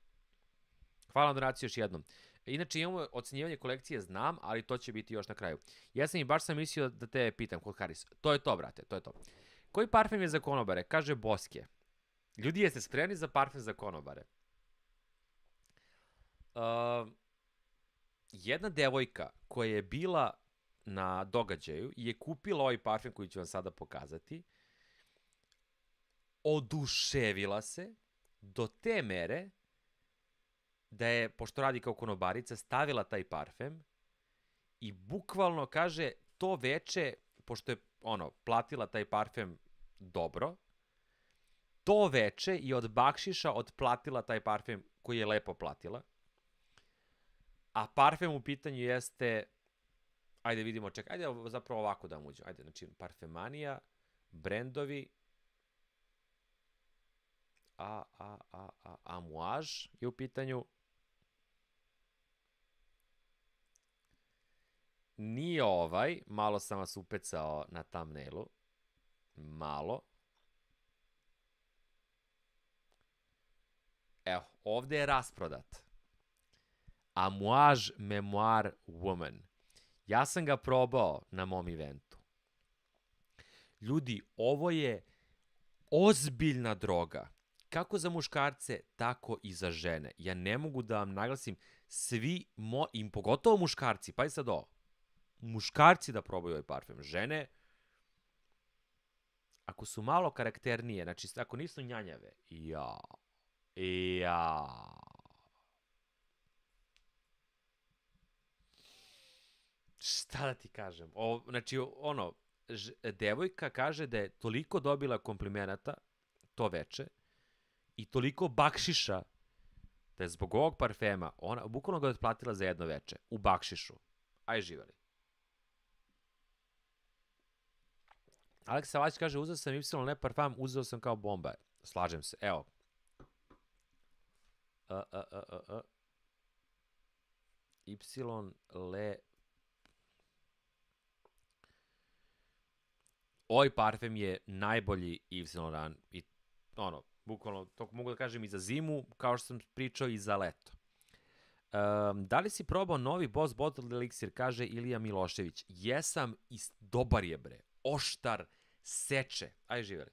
Hvala na donaciju još jednom. Inače imamo ocenjivanje kolekcije, znam, ali to će biti još na kraju. Ja sam i baš sam mislio da te pitam, Hot Harris. To je to, brate, to je to. Koji parfem je za konobare? Kaže Boske. Ljudi, jeste spremni za parfem za konobare? Uh, jedna devojka koja je bila na događaju je kupila ovaj parfem koji ću vam sada pokazati. Oduševila se do te mere da je, pošto radi kao konobarica, stavila taj parfem i bukvalno kaže to veče, pošto je ono, platila taj parfem dobro, to veče i od bakšiša otplatila taj parfem koji je lepo platila. A parfem u pitanju jeste, ajde vidimo, čekaj, ajde zapravo ovako da vam uđem. Ajde, znači, parfemanija, brendovi, a, a, a, a, Amouage je u pitanju. Nije ovaj, malo sam vas upecao na thumbnailu. Malo. Evo, ovde je rasprodat. Amouage Memoir Woman. Ja sam ga probao na mom eventu. Ljudi, ovo je ozbiljna droga. Kako za muškarce, tako i za žene. Ja ne mogu da vam naglasim, svi, mo, im pogotovo muškarci, pa i sad ovo, muškarci da probaju ovaj parfem. Žene, ako su malo karakternije, znači ako nisu njanjave, ja, ja. Šta da ti kažem? O, znači, ono, ž, devojka kaže da je toliko dobila komplimenata to veče i toliko bakšiša da je zbog ovog parfema, ona bukvalno ga otplatila za jedno veče, u bakšišu. Aj, živeli. Aleksa Vać kaže, uzeo sam Y Le Parfum, uzeo sam kao bomba. Slažem se, evo. Uh, uh, uh, uh, uh. Y Le Ovaj parfem je najbolji Yves Saint Laurent i ono, bukvalno, to mogu da kažem i za zimu, kao što sam pričao i za leto. Um, da li si probao novi Boss Bottled Elixir, kaže Ilija Milošević. Jesam i dobar je, bre. Oštar, seče. Aj, živeli.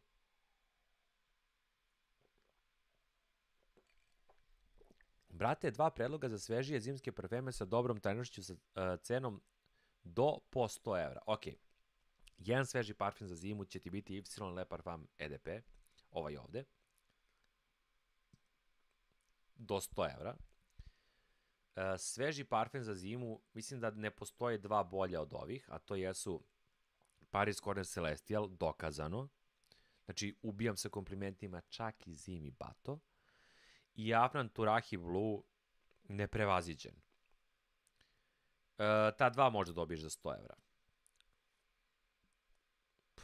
Brate, dva predloga za svežije zimske parfeme sa dobrom trajnošću sa uh, cenom do po sto evra. Okej. Jedan sveži parfum za zimu će ti biti Y Le Parfum E D P, ovaj ovde, do sto evra. E, sveži parfum za zimu, mislim da ne postoje dva bolja od ovih, a to jesu Paris Corner Celestial, dokazano. Znači, ubijam se komplimentima čak i zimi bato. I Afnan Turahi Blue, neprevaziđen. E, ta dva možda dobiješ za sto evra.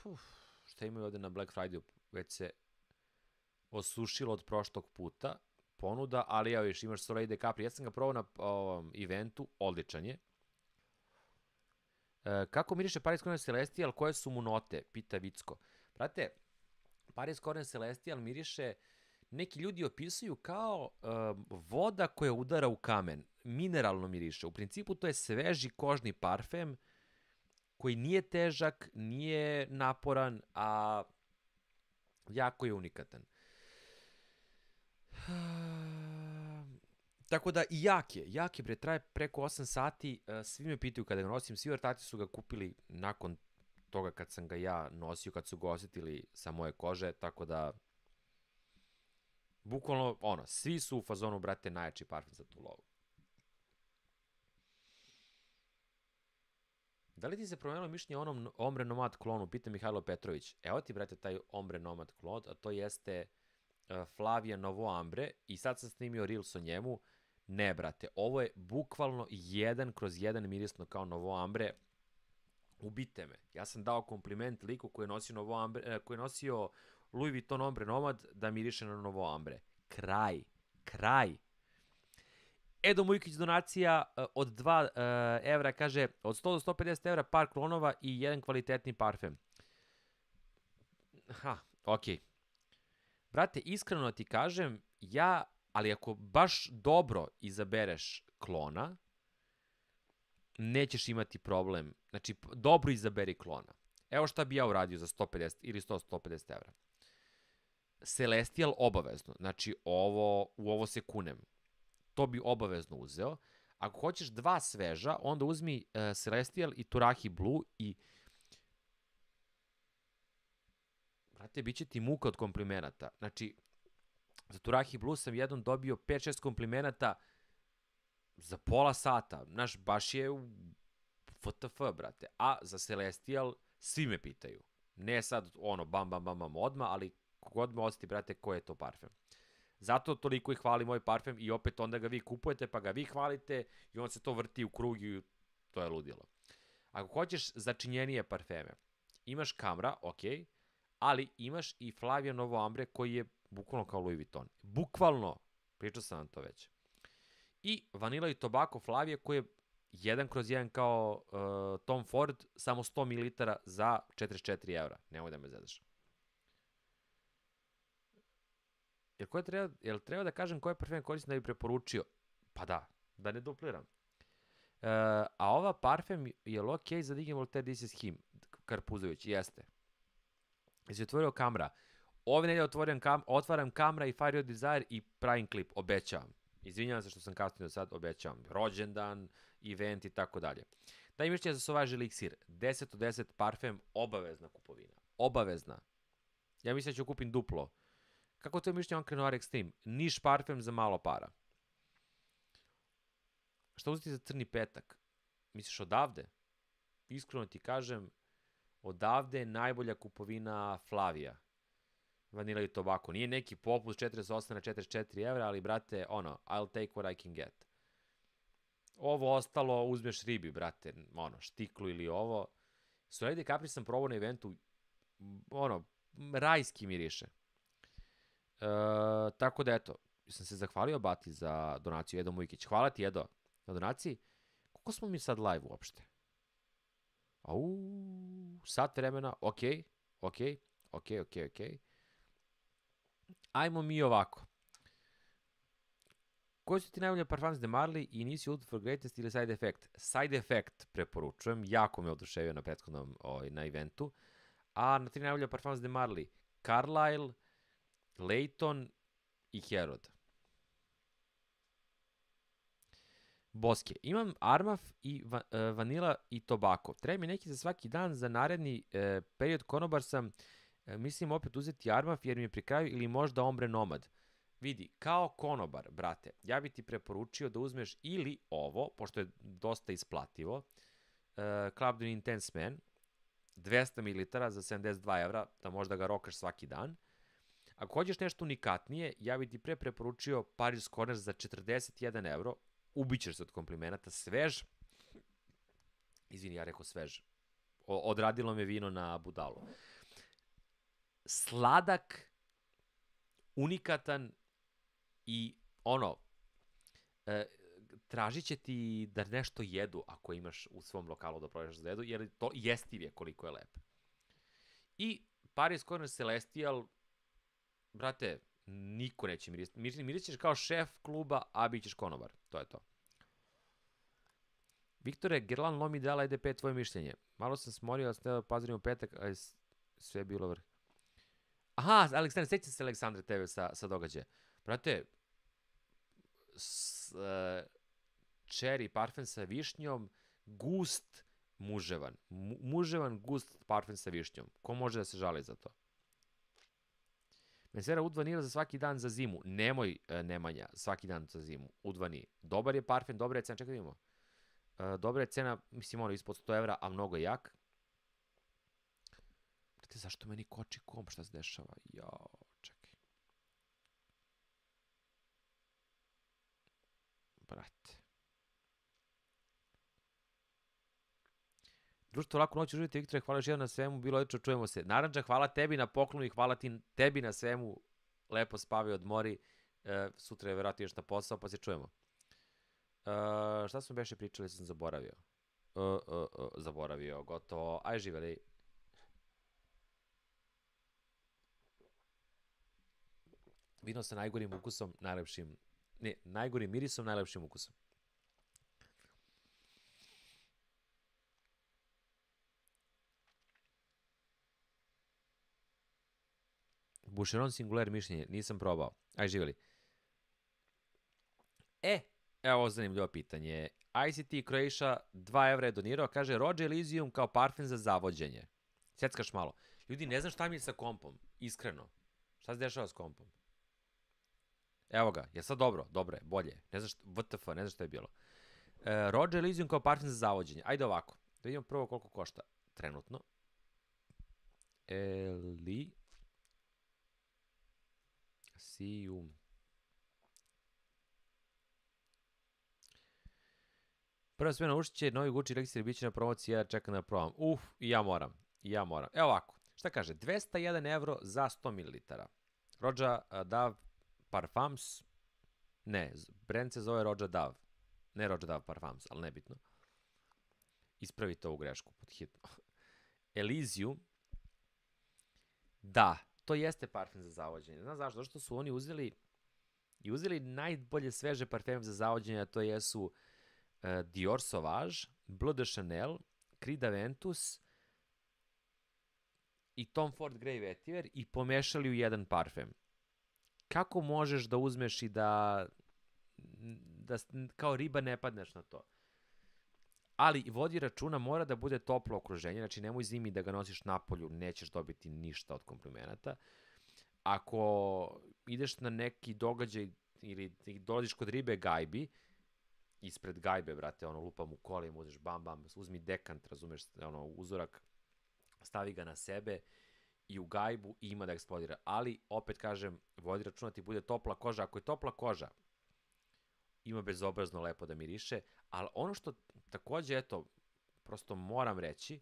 Puf, šta imaju ovde na Black Friday, već se osušilo od prošlog puta ponuda, ali ja viš, imaš Soleil de Capri, ja sam ga probao na ovom eventu, odličan je. E, kako miriše Paris Corner Celestial, koje su mu note, pita Vicko. Brate, Paris Corner Celestial miriše, neki ljudi opisuju kao um, voda koja udara u kamen, mineralno miriše. U principu to je sveži kožni parfem, koji nije težak, nije naporan, a jako je unikatan. Tako da i jak je, jak je, bre, traje preko osam sati, svi me pitaju kada ga nosim, svi ortaci su ga kupili nakon toga kad sam ga ja nosio, kad su ga osetili sa moje kože, tako da, bukvalno, ono, svi su u fazonu, brate, najjači parfum za tu lovu. Da li ti se promenilo mišljenje o onom Ombre Nomad klonu, pita Mihajlo Petrović. Evo ti, brate, taj Ombre Nomad klon, a to jeste uh, Flavia Novo Ambre i sad sam snimio Reels o njemu. Ne, brate, ovo je bukvalno jedan kroz jedan mirisno kao Novo Ambre. Ubite me. Ja sam dao kompliment liku koji je nosio, Novo Ambre, uh, koji je nosio Louis Vuitton Ombre Nomad da miriše na Novo Ambre. Kraj. Kraj. Edo Mujkić donacija uh, od dva uh, evra, kaže od sto do sto pedeset evra par klonova i jedan kvalitetni parfem. Ha, okej. Okay. Brate, iskreno ti kažem, ja, ali ako baš dobro izabereš klona, nećeš imati problem. Znači, dobro izaberi klona. Evo šta bi ja uradio za sto pedeset ili sto do sto pedeset evra. Celestial obavezno. Znači, ovo, u ovo se kunem. To bi obavezno uzeo. Ako hoćeš dva sveža, onda uzmi uh, Celestial i Turahi Blue i brate, bit će ti muka od komplimenata. Znači, za Turahi Blue sam jednom dobio pet šest komplimenata za pola sata. Znaš, baš je u F T F, brate. A za Celestial svi me pitaju. Ne sad, ono, bam, bam, bam, bam, odmah, ali kogod me osjeti, brate, koji je to parfem. Zato toliko i hvali moj parfem i opet onda ga vi kupujete, pa ga vi hvalite i on se to vrti u krug i to je ludilo. Ako hoćeš začinjenije parfeme, imaš Camera, okej, okay, ali imaš i Flavia Novo Ambre koji je bukvalno kao Louis Vuitton. Bukvalno, pričao sam vam to već. I Vanilla i Tobacco Flavia koji je jedan kroz jedan kao uh, Tom Ford, samo sto mililitara za četrdeset četiri evra. Nemoj da me zezaš. Jel, koje treba, jel treba da kažem koje parfem koristim da bi preporučio? Pa da, da ne dupliram. Uh, a ova parfem je ok za Digim Voltaire This is Him, Karpuzović, jeste. Jesi otvorio Camera. Ove nedelje otvorim kam, otvaram Camera i Fire Your Desire i pravim klip, obećavam. Izvinjavam se što sam kasnio do sad, obećavam. Rođendan, event i tako dalje. Daj mišljenje za Sauvage Elixir. deset od deset parfem, obavezna kupovina. Obavezna. Ja mislim da ću kupim duplo. Kako to je mišljenje Encre Noir Extreme? Niš parfem za malo para. Šta uzeti za crni petak? Misliš odavde? Iskreno ti kažem, odavde je najbolja kupovina Flavia. Vanilla i Tobacco. Nije neki popust četrdeset osam na četrdeset četiri evra, ali brate, ono, I'll take what I can get. Ovo ostalo uzmeš ribi, brate, ono, štiklu ili ovo. Soleil de Capri sam probao na eventu, ono, rajski miriše. E, tako da, eto, sam se zahvalio Bati za donaciju, Edo Mujkić. Hvala ti, Edo, na donaciji. Koliko smo mi sad live uopšte? Au, sat vremena, okej, okej, okej, okej, okej. Ajmo mi ovako. Koji su ti najbolje parfums de Marley i nisi Ultra for Greatest ili Side Effect? Side Effect preporučujem, jako me oduševio na prethodnom ovaj, na eventu. A na tri najbolje parfums de Marley, Carlisle, Layton i Herod. Boske. Imam Armaf i va, uh, Vanilla i Tobacco. Treba mi neki za svaki dan, za naredni uh, period konobar sam, uh, mislim opet uzeti Armaf jer mi je pri kraju ili možda Ombre Nomad. Vidi, kao konobar, brate, ja bi ti preporučio da uzmeš ili ovo, pošto je dosta isplativo, uh, Club de Intense Man, dvesta mililitara za sedamdeset dva evra, da možda ga rokaš svaki dan. Ako hoćeš nešto unikatnije, ja bi ti pre preporučio Paris Corner za četrdeset jedan evro, ubićeš se od komplimenata, svež, izvini, ja rekao svež, o, odradilo me vino na budalu. Sladak, unikatan i ono, e, tražit će ti da nešto jedu ako imaš u svom lokalu da prodaš za jedu, jer to jestiv je koliko je lep. I Paris Corner Celestial, brate, niko neće mirisati. Miris, miris ćeš kao šef kluba, a bit ćeš konobar. To je to. Viktore, Gerlan Lomi dala E D P tvoje mišljenje. Malo sam smorio da sam teo pazorim u petak, ali sve je bilo vrh. Aha, Aleksandar, sjećam se Aleksandre tebe sa, sa događaja. Brate, s, uh, cherry parfum sa višnjom, gust, muževan. Mu, muževan, gust parfum sa višnjom. Ko može da se žali za to? Mensera Oud Vanilla za svaki dan za zimu. Nemoj, uh, Nemanja, svaki dan za zimu. Oud Vanilla. Dobar je parfum, dobra je cena. Čekaj da vidimo. Uh, dobra je cena, mislim ono, ispod sto evra, a mnogo jak. Brate, zašto meni koči komp? Šta se dešava? Jao, čekaj. Brate. Društvo, laku noć, uživite, Viktore, hvala još jedan na svemu, bilo odlično, čujemo se. Naranđa, hvala tebi na poklonu i hvala ti, tebi na svemu, lepo spavi, odmori, e, sutra je vjerojatno još na posao, pa se čujemo. E, šta smo beše pričali, sam zaboravio. E, e, e, zaboravio, gotovo, aj živeli. Vino sa najgorim ukusom, najlepšim, ne, najgorim mirisom, najlepšim ukusom. Boucheron Singular mišljenje, nisam probao. Aj, živjeli. E, evo ovo zanimljivo pitanje. I C T Croatia dva evra je donirao, kaže Roger Elysium kao parfem za zavođenje. Sjeckaš malo. Ljudi, ne znam šta mi je sa kompom, iskreno. Šta se dešava s kompom? Evo ga, je sad dobro? Dobro je, bolje. Ne znam šta, W T F, ne znam šta je bilo. E, Roger Elysium kao parfem za zavođenje. Ajde ovako, da vidimo prvo koliko košta trenutno. Elysium. Prva smjena ušće, novi Gucci Elixir bit će na promociji, ja čekam da probam. Uf, i ja moram, i ja moram. Evo ovako, šta kaže, dvesta jedan evro za sto mililitara. Roja Dav Parfums, ne, brand se zove Roja Dav. Ne Roja Dav Parfums, ali nebitno. Ispravite ovu grešku pod hitno. Elysium, da, to jeste parfem za zavođenje. Znaš zašto? Zato što su oni uzeli i uzeli najbolje sveže parfeme za zavođenje, a to jesu uh, Dior Sauvage, Bleu de Chanel, Creed Aventus i Tom Ford Grey Vetiver i pomešali u jedan parfem. Kako možeš da uzmeš i da, da kao riba ne padneš na to? Ali vodi računa, mora da bude toplo okruženje, znači nemoj zimi da ga nosiš napolju, nećeš dobiti ništa od komplimenata. Ako ideš na neki događaj ili dolaziš kod ribe gajbi, ispred gajbe, brate, ono, lupam u kolima, uzmeš bam, bam, uzmi dekant, razumeš, ono, uzorak, stavi ga na sebe i u gajbu i ima da eksplodira. Ali, opet kažem, vodi računa ti bude topla koža. Ako je topla koža, ima bezobrazno lepo da miriše, ali ono što takođe, eto, prosto moram reći,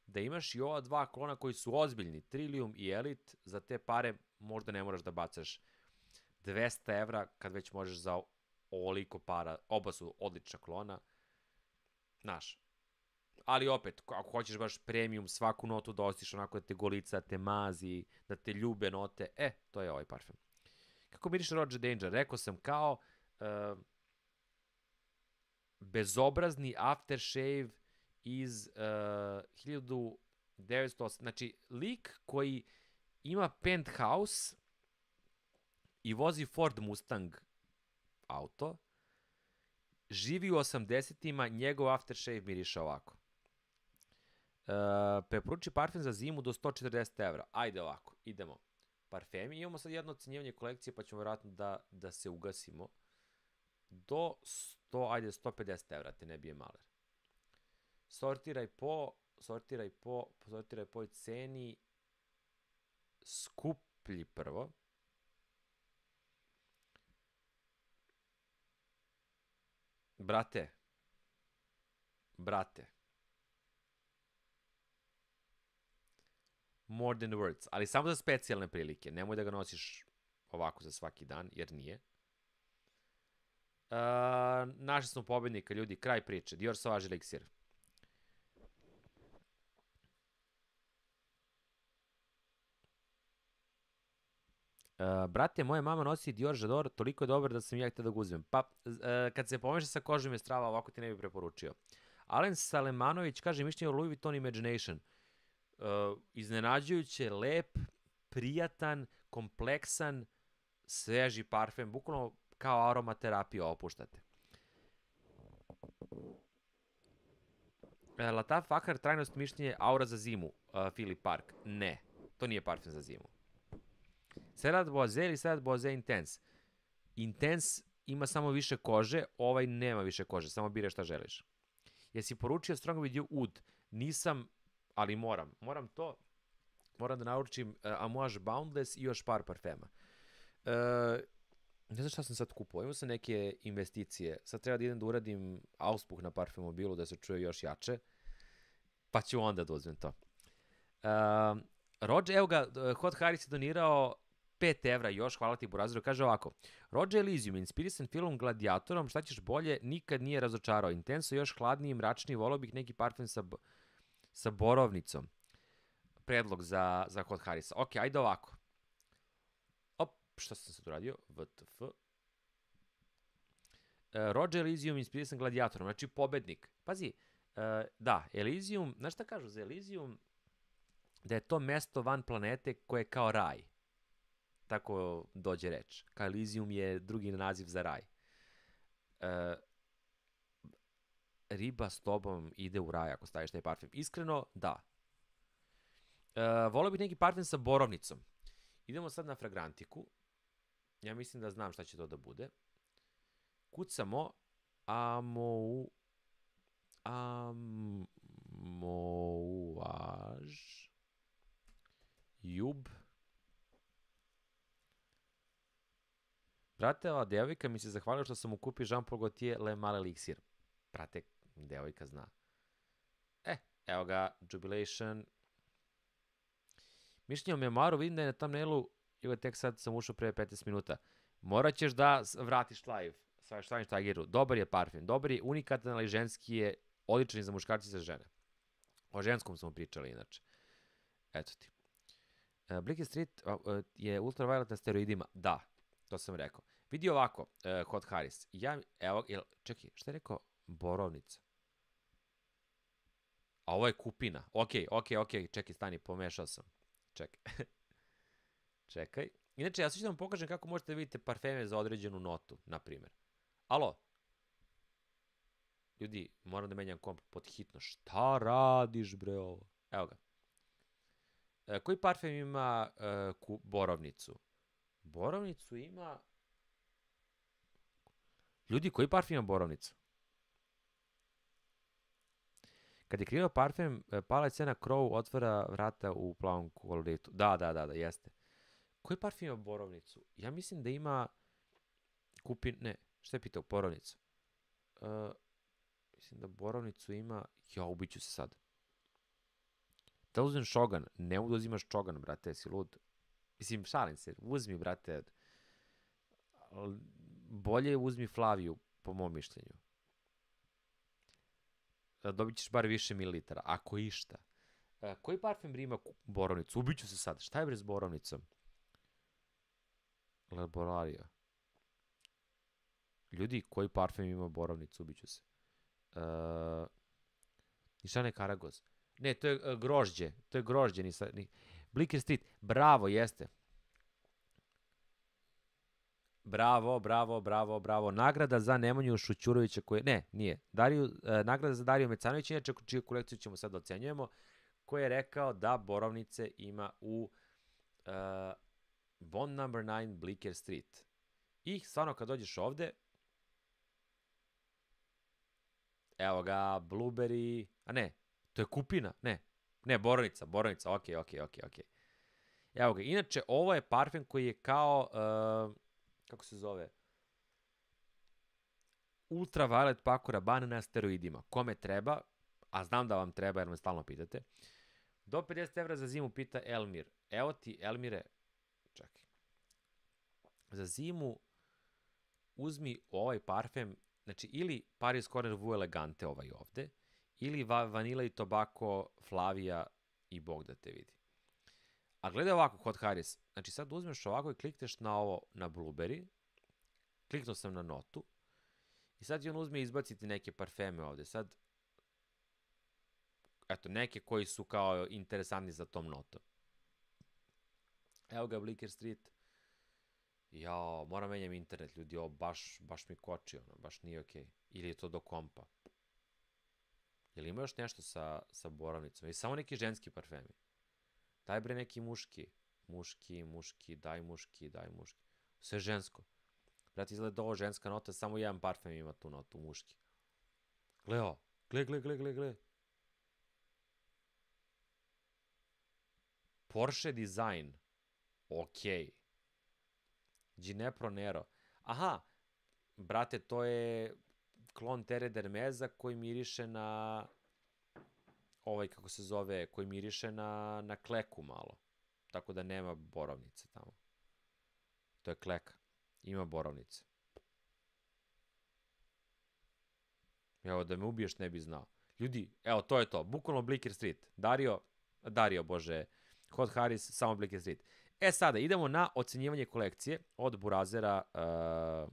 da imaš i ova dva klona koji su ozbiljni, Trillium i Elite, za te pare možda ne moraš da bacaš dvesta evra kad već možeš za ovoliko para, oba su odlična klona, znaš. Ali opet, ako hoćeš baš premium, svaku notu da ostiš onako da te golica, te mazi, da te ljube note, e, to je ovaj parfem. Kako miriše Roger Danger? Rekao sam kao uh, bezobrazni aftershave iz uh, hiljadu devetsto osam. Znači, lik koji ima penthouse i vozi Ford Mustang auto, živi u osamdesetima, njegov aftershave miriše ovako. Uh, preporuči parfem za zimu do sto četrdeset evra. Ajde ovako, idemo. Parfemi, imamo sad jedno ocenjivanje kolekcije, pa ćemo vjerojatno da, da se ugasimo. Do sto, ajde, sto pedeset evra, te ne bije maler. Sortiraj po, sortiraj po, sortiraj po ceni, skuplji prvo. Brate, brate, more than words, ali samo za specijalne prilike, nemoj da ga nosiš ovako za svaki dan, jer nije. Uh, našli smo pobednika, ljudi, kraj priče, Dior Sauvage Elixir. Uh, brate, moja mama nosi Dior J'adore, toliko je dobar da sam ja htio da ga uzmem. Pa, uh, kad se pomeša sa kožom je strava, ovako ti ne bi preporučio. Alen Salemanović kaže mišljenje o Louis Vuitton Imagination. Uh, iznenađujuće, lep, prijatan, kompleksan, sveži parfem, bukvalno kao aromaterapiju opuštate. Uh, Lataf Fakar, trajnost mišljenje, aura za zimu, uh, Philip Park. Ne, to nije parfem za zimu. Serat Boise ili Serat Boise Intense? Intense ima samo više kože, ovaj nema više kože, samo bire šta želiš. Jesi poručio Strong With You Oud? Nisam, ali moram. Moram to, moram da naručim uh, Amouage Boundless i još par parfema. Uh, ne znam šta sam sad kupao, imao sam neke investicije, sad treba da idem da uradim auspuh na parfemobilu da se čuje još jače, pa ću onda da uzmem to. Uh, Roger, evo ga, Hot Harris je donirao pet evra još, hvala ti Buraziru, kaže ovako. Roger Elysium, inspirisan film Gladiatorom, šta ćeš bolje, nikad nije razočarao. Intenso, još hladniji, mračniji, volao bih neki parfem sa, sa borovnicom. Predlog za, za Hot Harrisa. Ok, ajde ovako. Op, šta sam sad uradio? W T F. Uh, Roger Elysium, inspirisan Gladiatorom, znači pobednik. Pazi, uh, da, Elysium, znaš šta kažu za Elysium? Da je to mesto van planete koje je kao raj. tako dođe reč. Kao Elysium je drugi naziv za raj. Uh, riba s tobom ide u raj ako staviš taj parfem. Iskreno, da. Uh, volio bih neki parfem sa borovnicom. Idemo sad na fragrantiku. Ja mislim da znam šta će to da bude. Kucamo amou amouage jub. Brate, ova devojka mi se zahvalila što sam mu kupio Jean Paul Gaultier Le Mal Elixir. Brate, devojka zna. E, evo ga, Jubilation. Mišljenje o memoaru, vidim da je na thumbnailu, evo tek sad sam ušao pre petnaest minuta. Morat ćeš da vratiš live sa Schweinsteigeru. Dobar je parfem, dobar je, unikatan, ali ženski je, odličan je za muškarci i za žene. O ženskom smo pričali inače. Eto ti. Uh, Bleecker Street uh, uh, je ultraviolet na steroidima. Da, to sam rekao. Vidi ovako, uh, Hot Harris. Ja, evo, jel, čekaj, šta je rekao? Borovnica. A ovo je kupina. Ok, ok, ok, čekaj, stani, pomešao sam. Čekaj. Čekaj. Inače, ja sad ću da vam pokažem kako možete da vidite parfeme za određenu notu, na primjer. Alo? Ljudi, moram da menjam komp pod hitno. Šta radiš, bre, ovo? Evo ga. E, koji parfem ima e, ku, borovnicu? Borovnicu ima... Ljudi, koji parfem ima borovnicu? Kad je krivo parfem, palac cena Crow otvara vrata u plavom koloritu. Da, da, da, da, jeste. Koji parfem ima borovnicu? Ja mislim da ima kupin... Ne, šta je pitao? Borovnicu. Uh, mislim da borovnicu ima... Ja, ubiću se sad. Da uzmem šogan. Ne da uzimaš šogan, brate, si lud. Mislim, šalim se. Uzmi, brate. Bolje uzmi Flaviju, po mom mišljenju. Dobit ćeš bar više mililitara, ako išta. Uh, koji parfem ima borovnicu? Ubiću se sad. Šta je bre s borovnicom? Laboraria. Ljudi, koji parfem ima borovnicu? Ubiću se. Uh, Nišane Karagoz. Ne, to je uh, grožđe. To je grožđe. Nisa, ni... Bleecker Street. Bravo, jeste. Bravo, bravo, bravo, bravo. Nagrada za Nemanju Šućurovića koje... Ne, nije. Dariju, uh, nagrada za Dariju Mecanovića, inače čiju kolekciju ćemo sad ocenjujemo, koji je rekao da borovnice ima u uh, Bond number nine Bleecker Street. I stvarno kad dođeš ovde, evo ga, Blueberry, a ne, to je kupina, ne, ne, borovnica, borovnica, ok, ok, ok, ok. Evo ga, inače ovo je parfem koji je kao, uh, kako se zove, ultraviolet Paco Rabanne na steroidima. Kome treba, a znam da vam treba jer me stalno pitate, do pedeset evra za zimu pita Elmir. Evo ti, Elmire, čekaj. Za zimu uzmi ovaj parfem, znači ili Paris Corner Vue Elegante ovaj ovde, ili va Vanilla i Tobacco Flavia i Bog da te vidi. A gledaj ovako, Hot Harris, znači sad uzmeš ovako i klikneš na ovo, na Blueberry, kliknuo sam na notu, i sad će on uzme i izbaciti neke parfeme ovde. Sad, eto, neke koji su kao interesantni za tom notom. Evo ga, Bleecker Street. Jao, moram menjam internet, ljudi, ovo baš, baš mi koči, ono, baš nije okej. Okay. Ili je to do kompa. Jel ima još nešto sa, sa borovnicom? Ili samo neki ženski parfemi? Daj bre neki muški. Muški, muški, daj muški, daj muški. Sve žensko. Brate, izgleda ovo ženska nota, samo jedan parfem ima tu notu, muški. Gle ovo, gle, gle, gle, gle, gle. Porsche Design. Okej. Okay. Ginepro Nero. Aha, brate, to je klon Terre d'Hermesa koji miriše na ovaj, kako se zove, koji miriše na, na kleku malo. Tako da nema borovnice tamo. To je kleka. Ima borovnice. Evo, da me ubiješ ne bi znao. Ljudi, evo, to je to. Bukvalno Bleecker Street. Dario, Dario, bože, Hot Harris, samo Bleecker Street. E sada, idemo na ocenjivanje kolekcije od burazera uh,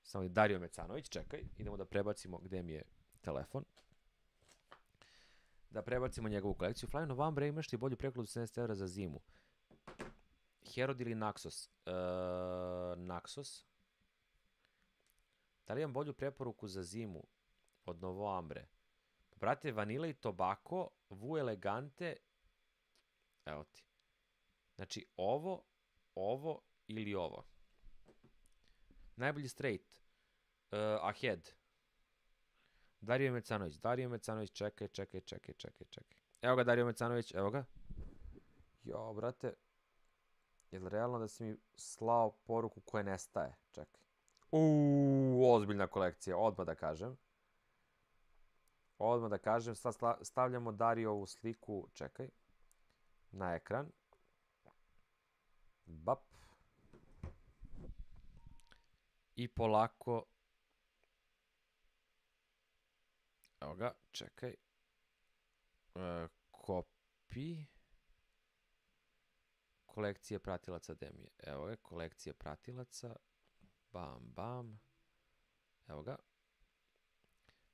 samo Dario Mecanović. Čekaj, idemo da prebacimo gde mi je telefon. Da prebacimo njegovu kolekciju. Fly November, imaš li bolju prekladu sedamdeset evra za zimu? Herod ili Naxos? Uh, Naxos. Da li imam bolju preporuku za zimu od Novo Ambre? Brate, Vanilla i Tobacco, Vu Elegante, evo ti. Znači, ovo, ovo ili ovo. Najbolji straight. Uh, Ahead. Dario Mecanović. Dario Mecanović, čekaj, čekaj, čekaj, čekaj, čekaj. Evo ga Dario Mecanović, evo ga. Jo, brate. Je li realno da si mi slao poruku koja nestaje? Čekaj. Uuu, ozbiljna kolekcija, odmah da kažem. Odmah da kažem, sad stavljamo Dariovu sliku, čekaj, na ekran. Bap. I polako, evo ga, čekaj, e, copy, kolekcije pratilaca Demije, evo ga, kolekcije pratilaca, bam, bam, evo ga,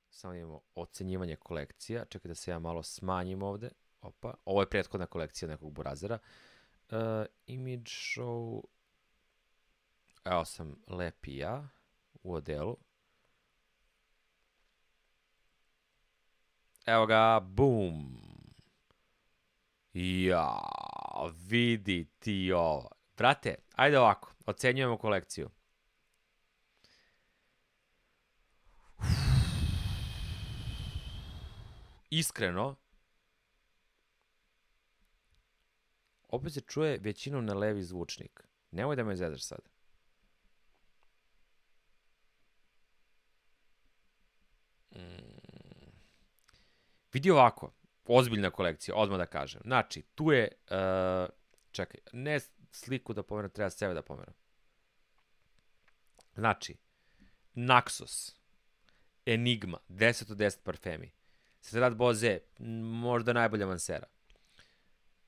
samo imamo ocenjivanje kolekcija, čekaj da se ja malo smanjim ovde, opa, ovo je prethodna kolekcija nekog burazera, uh, image show, evo sam lepi ja u odelu, evo ga, boom, ja, vidi ti ovo, brate, ajde ovako, ocenjujemo kolekciju. Iskreno, opet se čuje većinom na levi zvučnik. Nemoj da me zezaš sad. Mm. Vidi ovako, ozbiljna kolekcija, odmah da kažem. Znači, tu je, uh, čekaj, ne sliku da pomeram, treba sebe da pomeram. Znači, Naxos, Enigma, deset od deset parfemi. Cedrat Boze, možda najbolja mansera.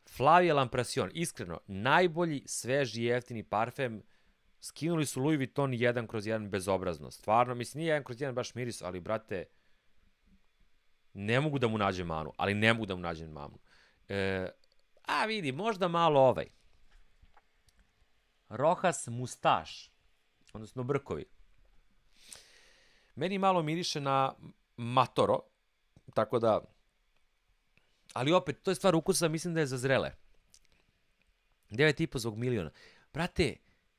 Flavia Lamprasion, iskreno, najbolji, sveži, jeftini parfem. Skinuli su Louis Vuitton jedan kroz jedan bezobrazno. Stvarno, mislim, nije jedan kroz jedan baš miris, ali, brate, ne mogu da mu nađem manu, ali ne mogu da mu nađem manu. E, a, vidi, možda malo ovaj. Rojas Mustaš, odnosno brkovi. Meni malo miriše na Matoro, tako da, ali opet, to je stvar ukusa, mislim da je za zrele. devet i po zbog miliona. Brate,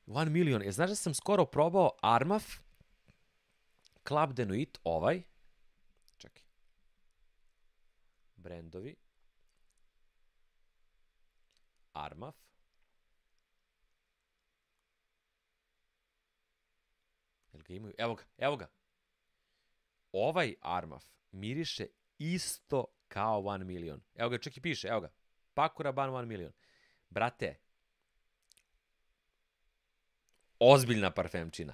one million, je, znaš da sam skoro probao Armaf, Club de Nuit, ovaj, čekaj, brendovi, Armaf, jel ga imaju, evo ga, evo ga, ovaj Armaf miriše isto kao one million. Evo ga, čak i piše, evo ga. Paco Rabanne one million. Brate, ozbiljna parfemčina.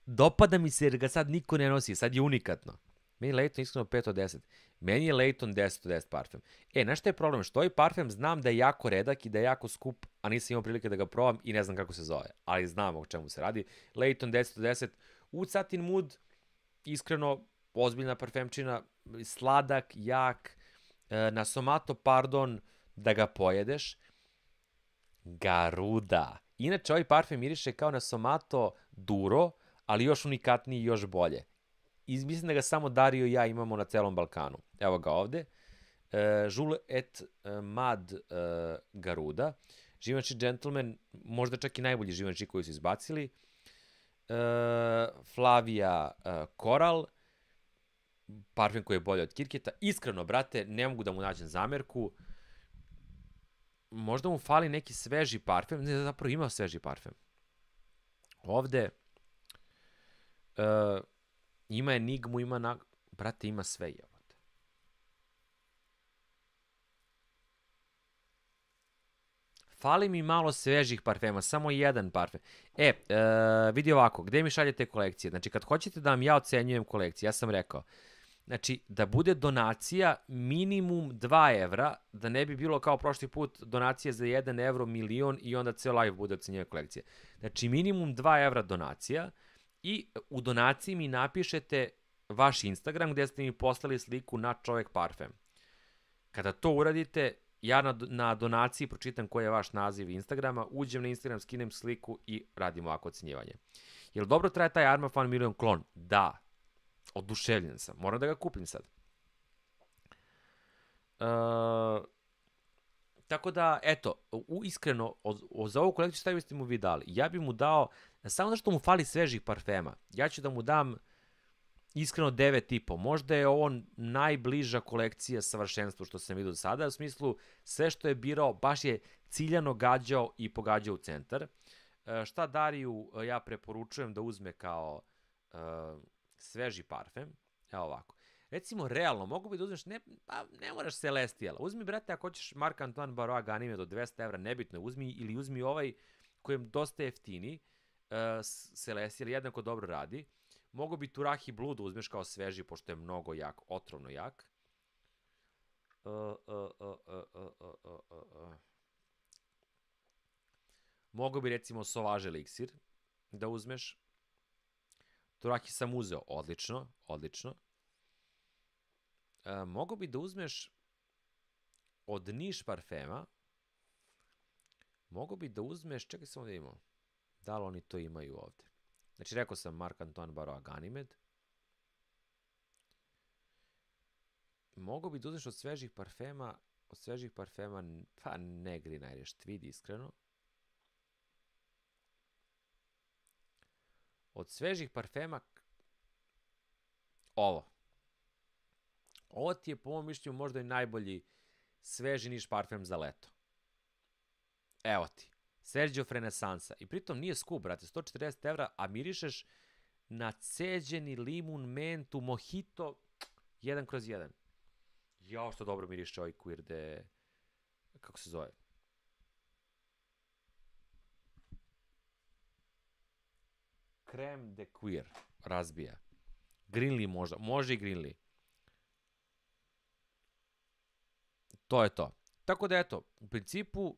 Dopada mi se jer ga sad niko ne nosi, sad je unikatno. Meni je Layton iskreno pet od deset. Meni je Layton deset od deset parfem. E, znaš šta je problem? Što ovaj parfem znam da je jako redak i da je jako skup, a nisam imao prilike da ga probam i ne znam kako se zove. Ali znam o čemu se radi. Layton deset od deset. Oud Satin Mood, iskreno, ozbiljna parfemčina, sladak, jak, na Somato Pardon da ga pojedeš. Garuda. Inače, ovaj parfem miriše kao na Somato Duro, ali još unikatniji i još bolje. I mislim da ga samo Dario i ja imamo na celom Balkanu. Evo ga ovde. Uh, Jules et uh, Mad uh, Garuda. Givenchy Gentleman, možda čak i najbolji Givenchy koji su izbacili. Uh, Flavia uh, Coral. Parfem koji je bolji od Kirketa. Iskreno, brate, ne mogu da mu nađem zamerku. Možda mu fali neki sveži parfem. Ne, zapravo ima sveži parfem. Ovde uh, ima Enigmu, ima na... Brate, ima sve, jebote. Fali mi malo svežih parfema, samo jedan parfem. E, uh, vidi ovako, gde mi šaljete kolekcije? Znači, kad hoćete da vam ja ocenjujem kolekcije, ja sam rekao, znači, da bude donacija minimum dva evra, da ne bi bilo kao prošli put donacija za jedan evro milion i onda ceo live bude ocenjena kolekcija. Znači, minimum dva evra donacija i u donaciji mi napišete vaš Instagram gde ste mi poslali sliku na čovek parfem. Kada to uradite, ja na, na donaciji pročitam koji je vaš naziv Instagrama, uđem na Instagram, skinem sliku i radimo ovako ocenjivanje. Jel dobro traje taj Arma Fan Million klon? Da. Oduševljen sam. Moram da ga kupim sad. Uh, tako da, eto, u, iskreno, o, o, za ovu kolekciju šta biste mu vi dali? Ja bi mu dao, samo zašto mu fali svežih parfema, ja ću da mu dam iskreno devet i po. Možda je ovo najbliža kolekcija savršenstvu što sam vidio do sada, u smislu sve što je birao, baš je ciljano gađao i pogađao u centar. Uh, šta Dariju ja preporučujem da uzme kao uh, sveži parfem? Evo ovako. Recimo, realno, mogu bi da uzmeš, ne, pa ne moraš Celestiala. Uzmi, brate, ako hoćeš Marc Antoine Barrois Ganime do dvesta evra, nebitno je, uzmi, ili uzmi ovaj koji je dosta jeftini, uh, Celestial, jednako dobro radi. Mogu bi Turahi Blue da uzmeš kao sveži, pošto je mnogo jak, otrovno jak. Uh, uh, uh, uh, uh, uh, uh, uh. Mogu bi, recimo, Sauvage Elixir da uzmeš. Turahi sam uzeo, odlično, odlično. Uh, mogu bi da uzmeš od Niš parfema, mogu bi da uzmeš, čekaj samo da imamo, da li oni to imaju ovde. Znači, rekao sam Marc Antoine Barrois Ganimede. Mogu bi da uzmeš od svežih parfema, od svežih parfema, pa Negri najrešt, vidi iskreno. Od svežih parfema, ovo. Ovo ti je, po mom mišljenju, možda i najbolji sveži Niš parfem za leto. Evo ti. Sergio Renesansa. I pritom nije skup, brate. sto četrdeset evra, a mirišeš na ceđeni limun, mentu, mojito, jedan kroz jedan. Jao, što dobro miriše ovaj queer de... Kako se zove? Creme de queer. Razbija. Greenlee možda. Može i Greenlee. To je to. Tako da, eto, u principu,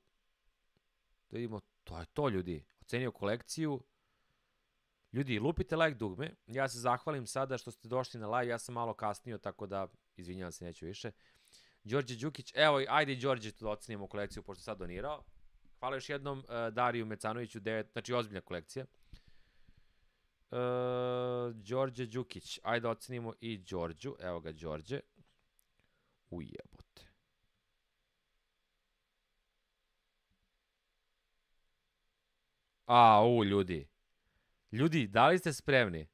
da vidimo, to je to, ljudi. Ocenio kolekciju. Ljudi, lupite like dugme. Ja se zahvalim sada što ste došli na live. Ja sam malo kasnio, tako da, izvinjavam se, neću više. Đorđe Đukić, evo, ajde i Đorđe tu da ocenimo kolekciju, pošto sad donirao. Hvala još jednom uh, Dariju Mecanoviću, devet, znači ozbiljna kolekcija. Uh, Đorđe Đukić, ajde ocenimo i Đorđu. Evo ga, Đorđe. Ujebote. A, u, ljudi. Ljudi, da li ste spremni?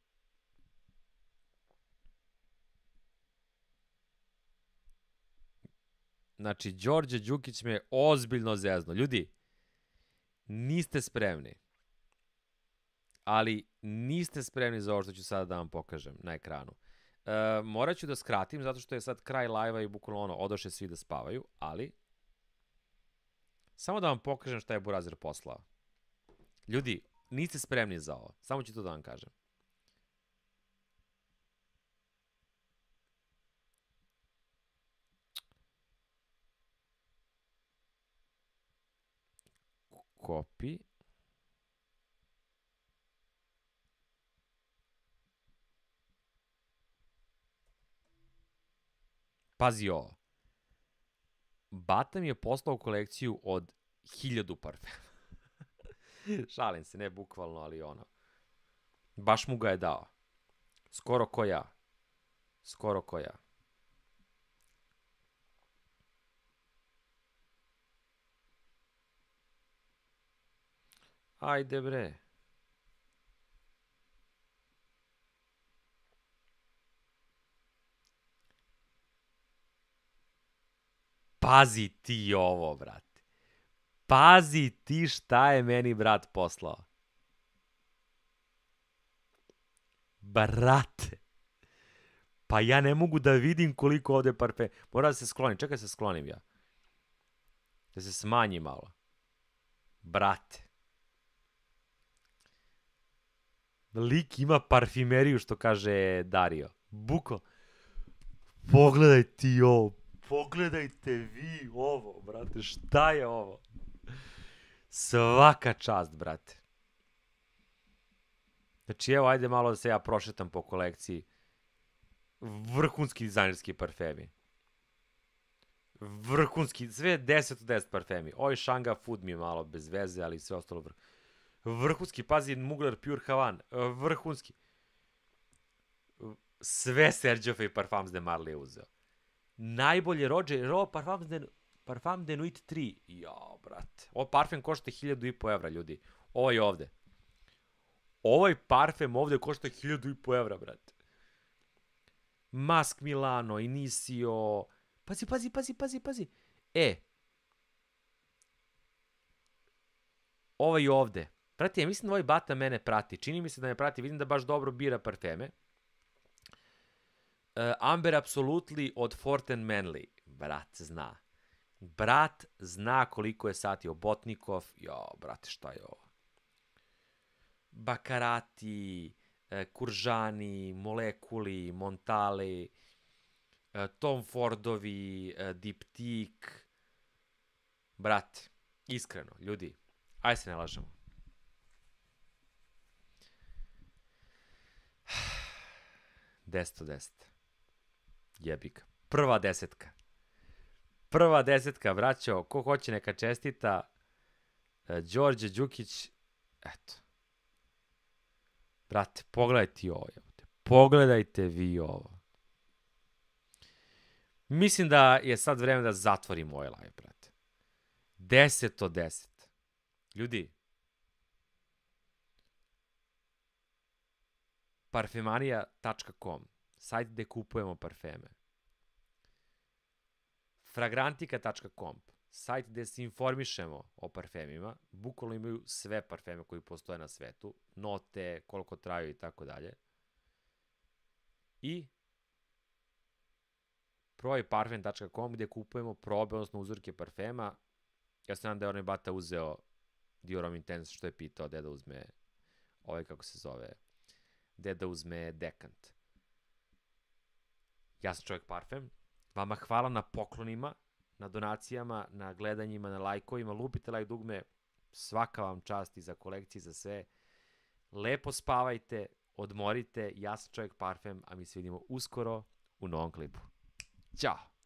Znači, Đorđe Đukić me ozbiljno zezno. Ljudi, niste spremni. Ali niste spremni za ovo što ću sada da vam pokažem na ekranu. E, morat ću da skratim, zato što je sad kraj live-a i bukvalno ono, odoše svi da spavaju, ali samo da vam pokažem šta je Burazer poslao. Ljudi, niste spremni za ovo. Samo ću to da vam kažem. Copy. Pazi ovo. Bata mi je poslao kolekciju od hiljadu parfema. Šalim se, ne bukvalno, ali ono. Baš mu ga je dao. Skoro ko ja. Skoro ko ja. Ajde bre. Pazi ti ovo, brate. Pazi ti šta je meni brat poslao. Brate. Pa ja ne mogu da vidim koliko ovde parfem. Moram da se sklonim. Čekaj da se sklonim ja. Da se smanji malo. Brate. Lik ima parfimeriju, što kaže Dario. Buko. Pogledaj ti ovo. Pogledajte vi ovo, brate. Šta je ovo? Svaka čast, brate. Znači, evo, ajde malo da se ja prošetam po kolekciji. Vrhunski dizajnerski parfemi. Vrhunski, sve deset od deset parfemi. Ovaj Shanga Food mi je malo bez veze, ali sve ostalo vrh. Vrhunski, pazi, Mugler Pure Havan. Vrhunski. Sve Sergiofe Parfums de Marly je uzeo. Najbolje Roger, Ro, Parfums de, Parfum de Nuit tri. Jao, brate. Ovo parfem košta hiljadu i po evra, ljudi. Ovo je ovde. Ovaj parfem ovde košta hiljadu i po evra, brate. Mask Milano, Inicio. Pazi, pazi, pazi, pazi, pazi. E. Ovaj ovde. Prati, ja mislim da ovaj bata mene prati. Čini mi se da me prati. Vidim da baš dobro bira parfeme. Uh, Amber Absolutely od Forten Manly. Brat zna. Brat zna koliko je sati Obotnikov. Jo, brate, šta je ovo? Bakarati, uh, Kuržani, Molekuli, Montali, uh, Tom Fordovi, uh, Diptyque. Brate, iskreno, ljudi, aj se ne lažemo. deset od deset. Jebik. Prva desetka. Prva desetka, braćo. Ko hoće neka čestita. E, Đorđe Đukić. Eto. Brate, pogledajte ovo. Pogledajte vi ovo. Mislim da je sad vreme da zatvorim ovaj live, brate. deset od deset. Ljudi. parfemanija tačka com, sajt gde kupujemo parfeme. fragrantika tačka com, sajt gde se informišemo o parfemima, bukvalno imaju sve parfeme koji postoje na svetu, note, koliko traju i tako dalje. I provaj parfem tačka com gde kupujemo probe, odnosno uzorke parfema. Ja se nadam da je onaj bata uzeo Dior Homme Intense, što je pitao gde da uzme ovaj, kako se zove, gde da uzme dekant. Ja sam Čovjek Parfem. Vama hvala na poklonima, na donacijama, na gledanjima, na lajkovima. Lupite like dugme. Svaka vam čast i za kolekcije, za sve. Lepo spavajte, odmorite. Ja sam Čovjek Parfem, a mi se vidimo uskoro u novom klipu. Ćao!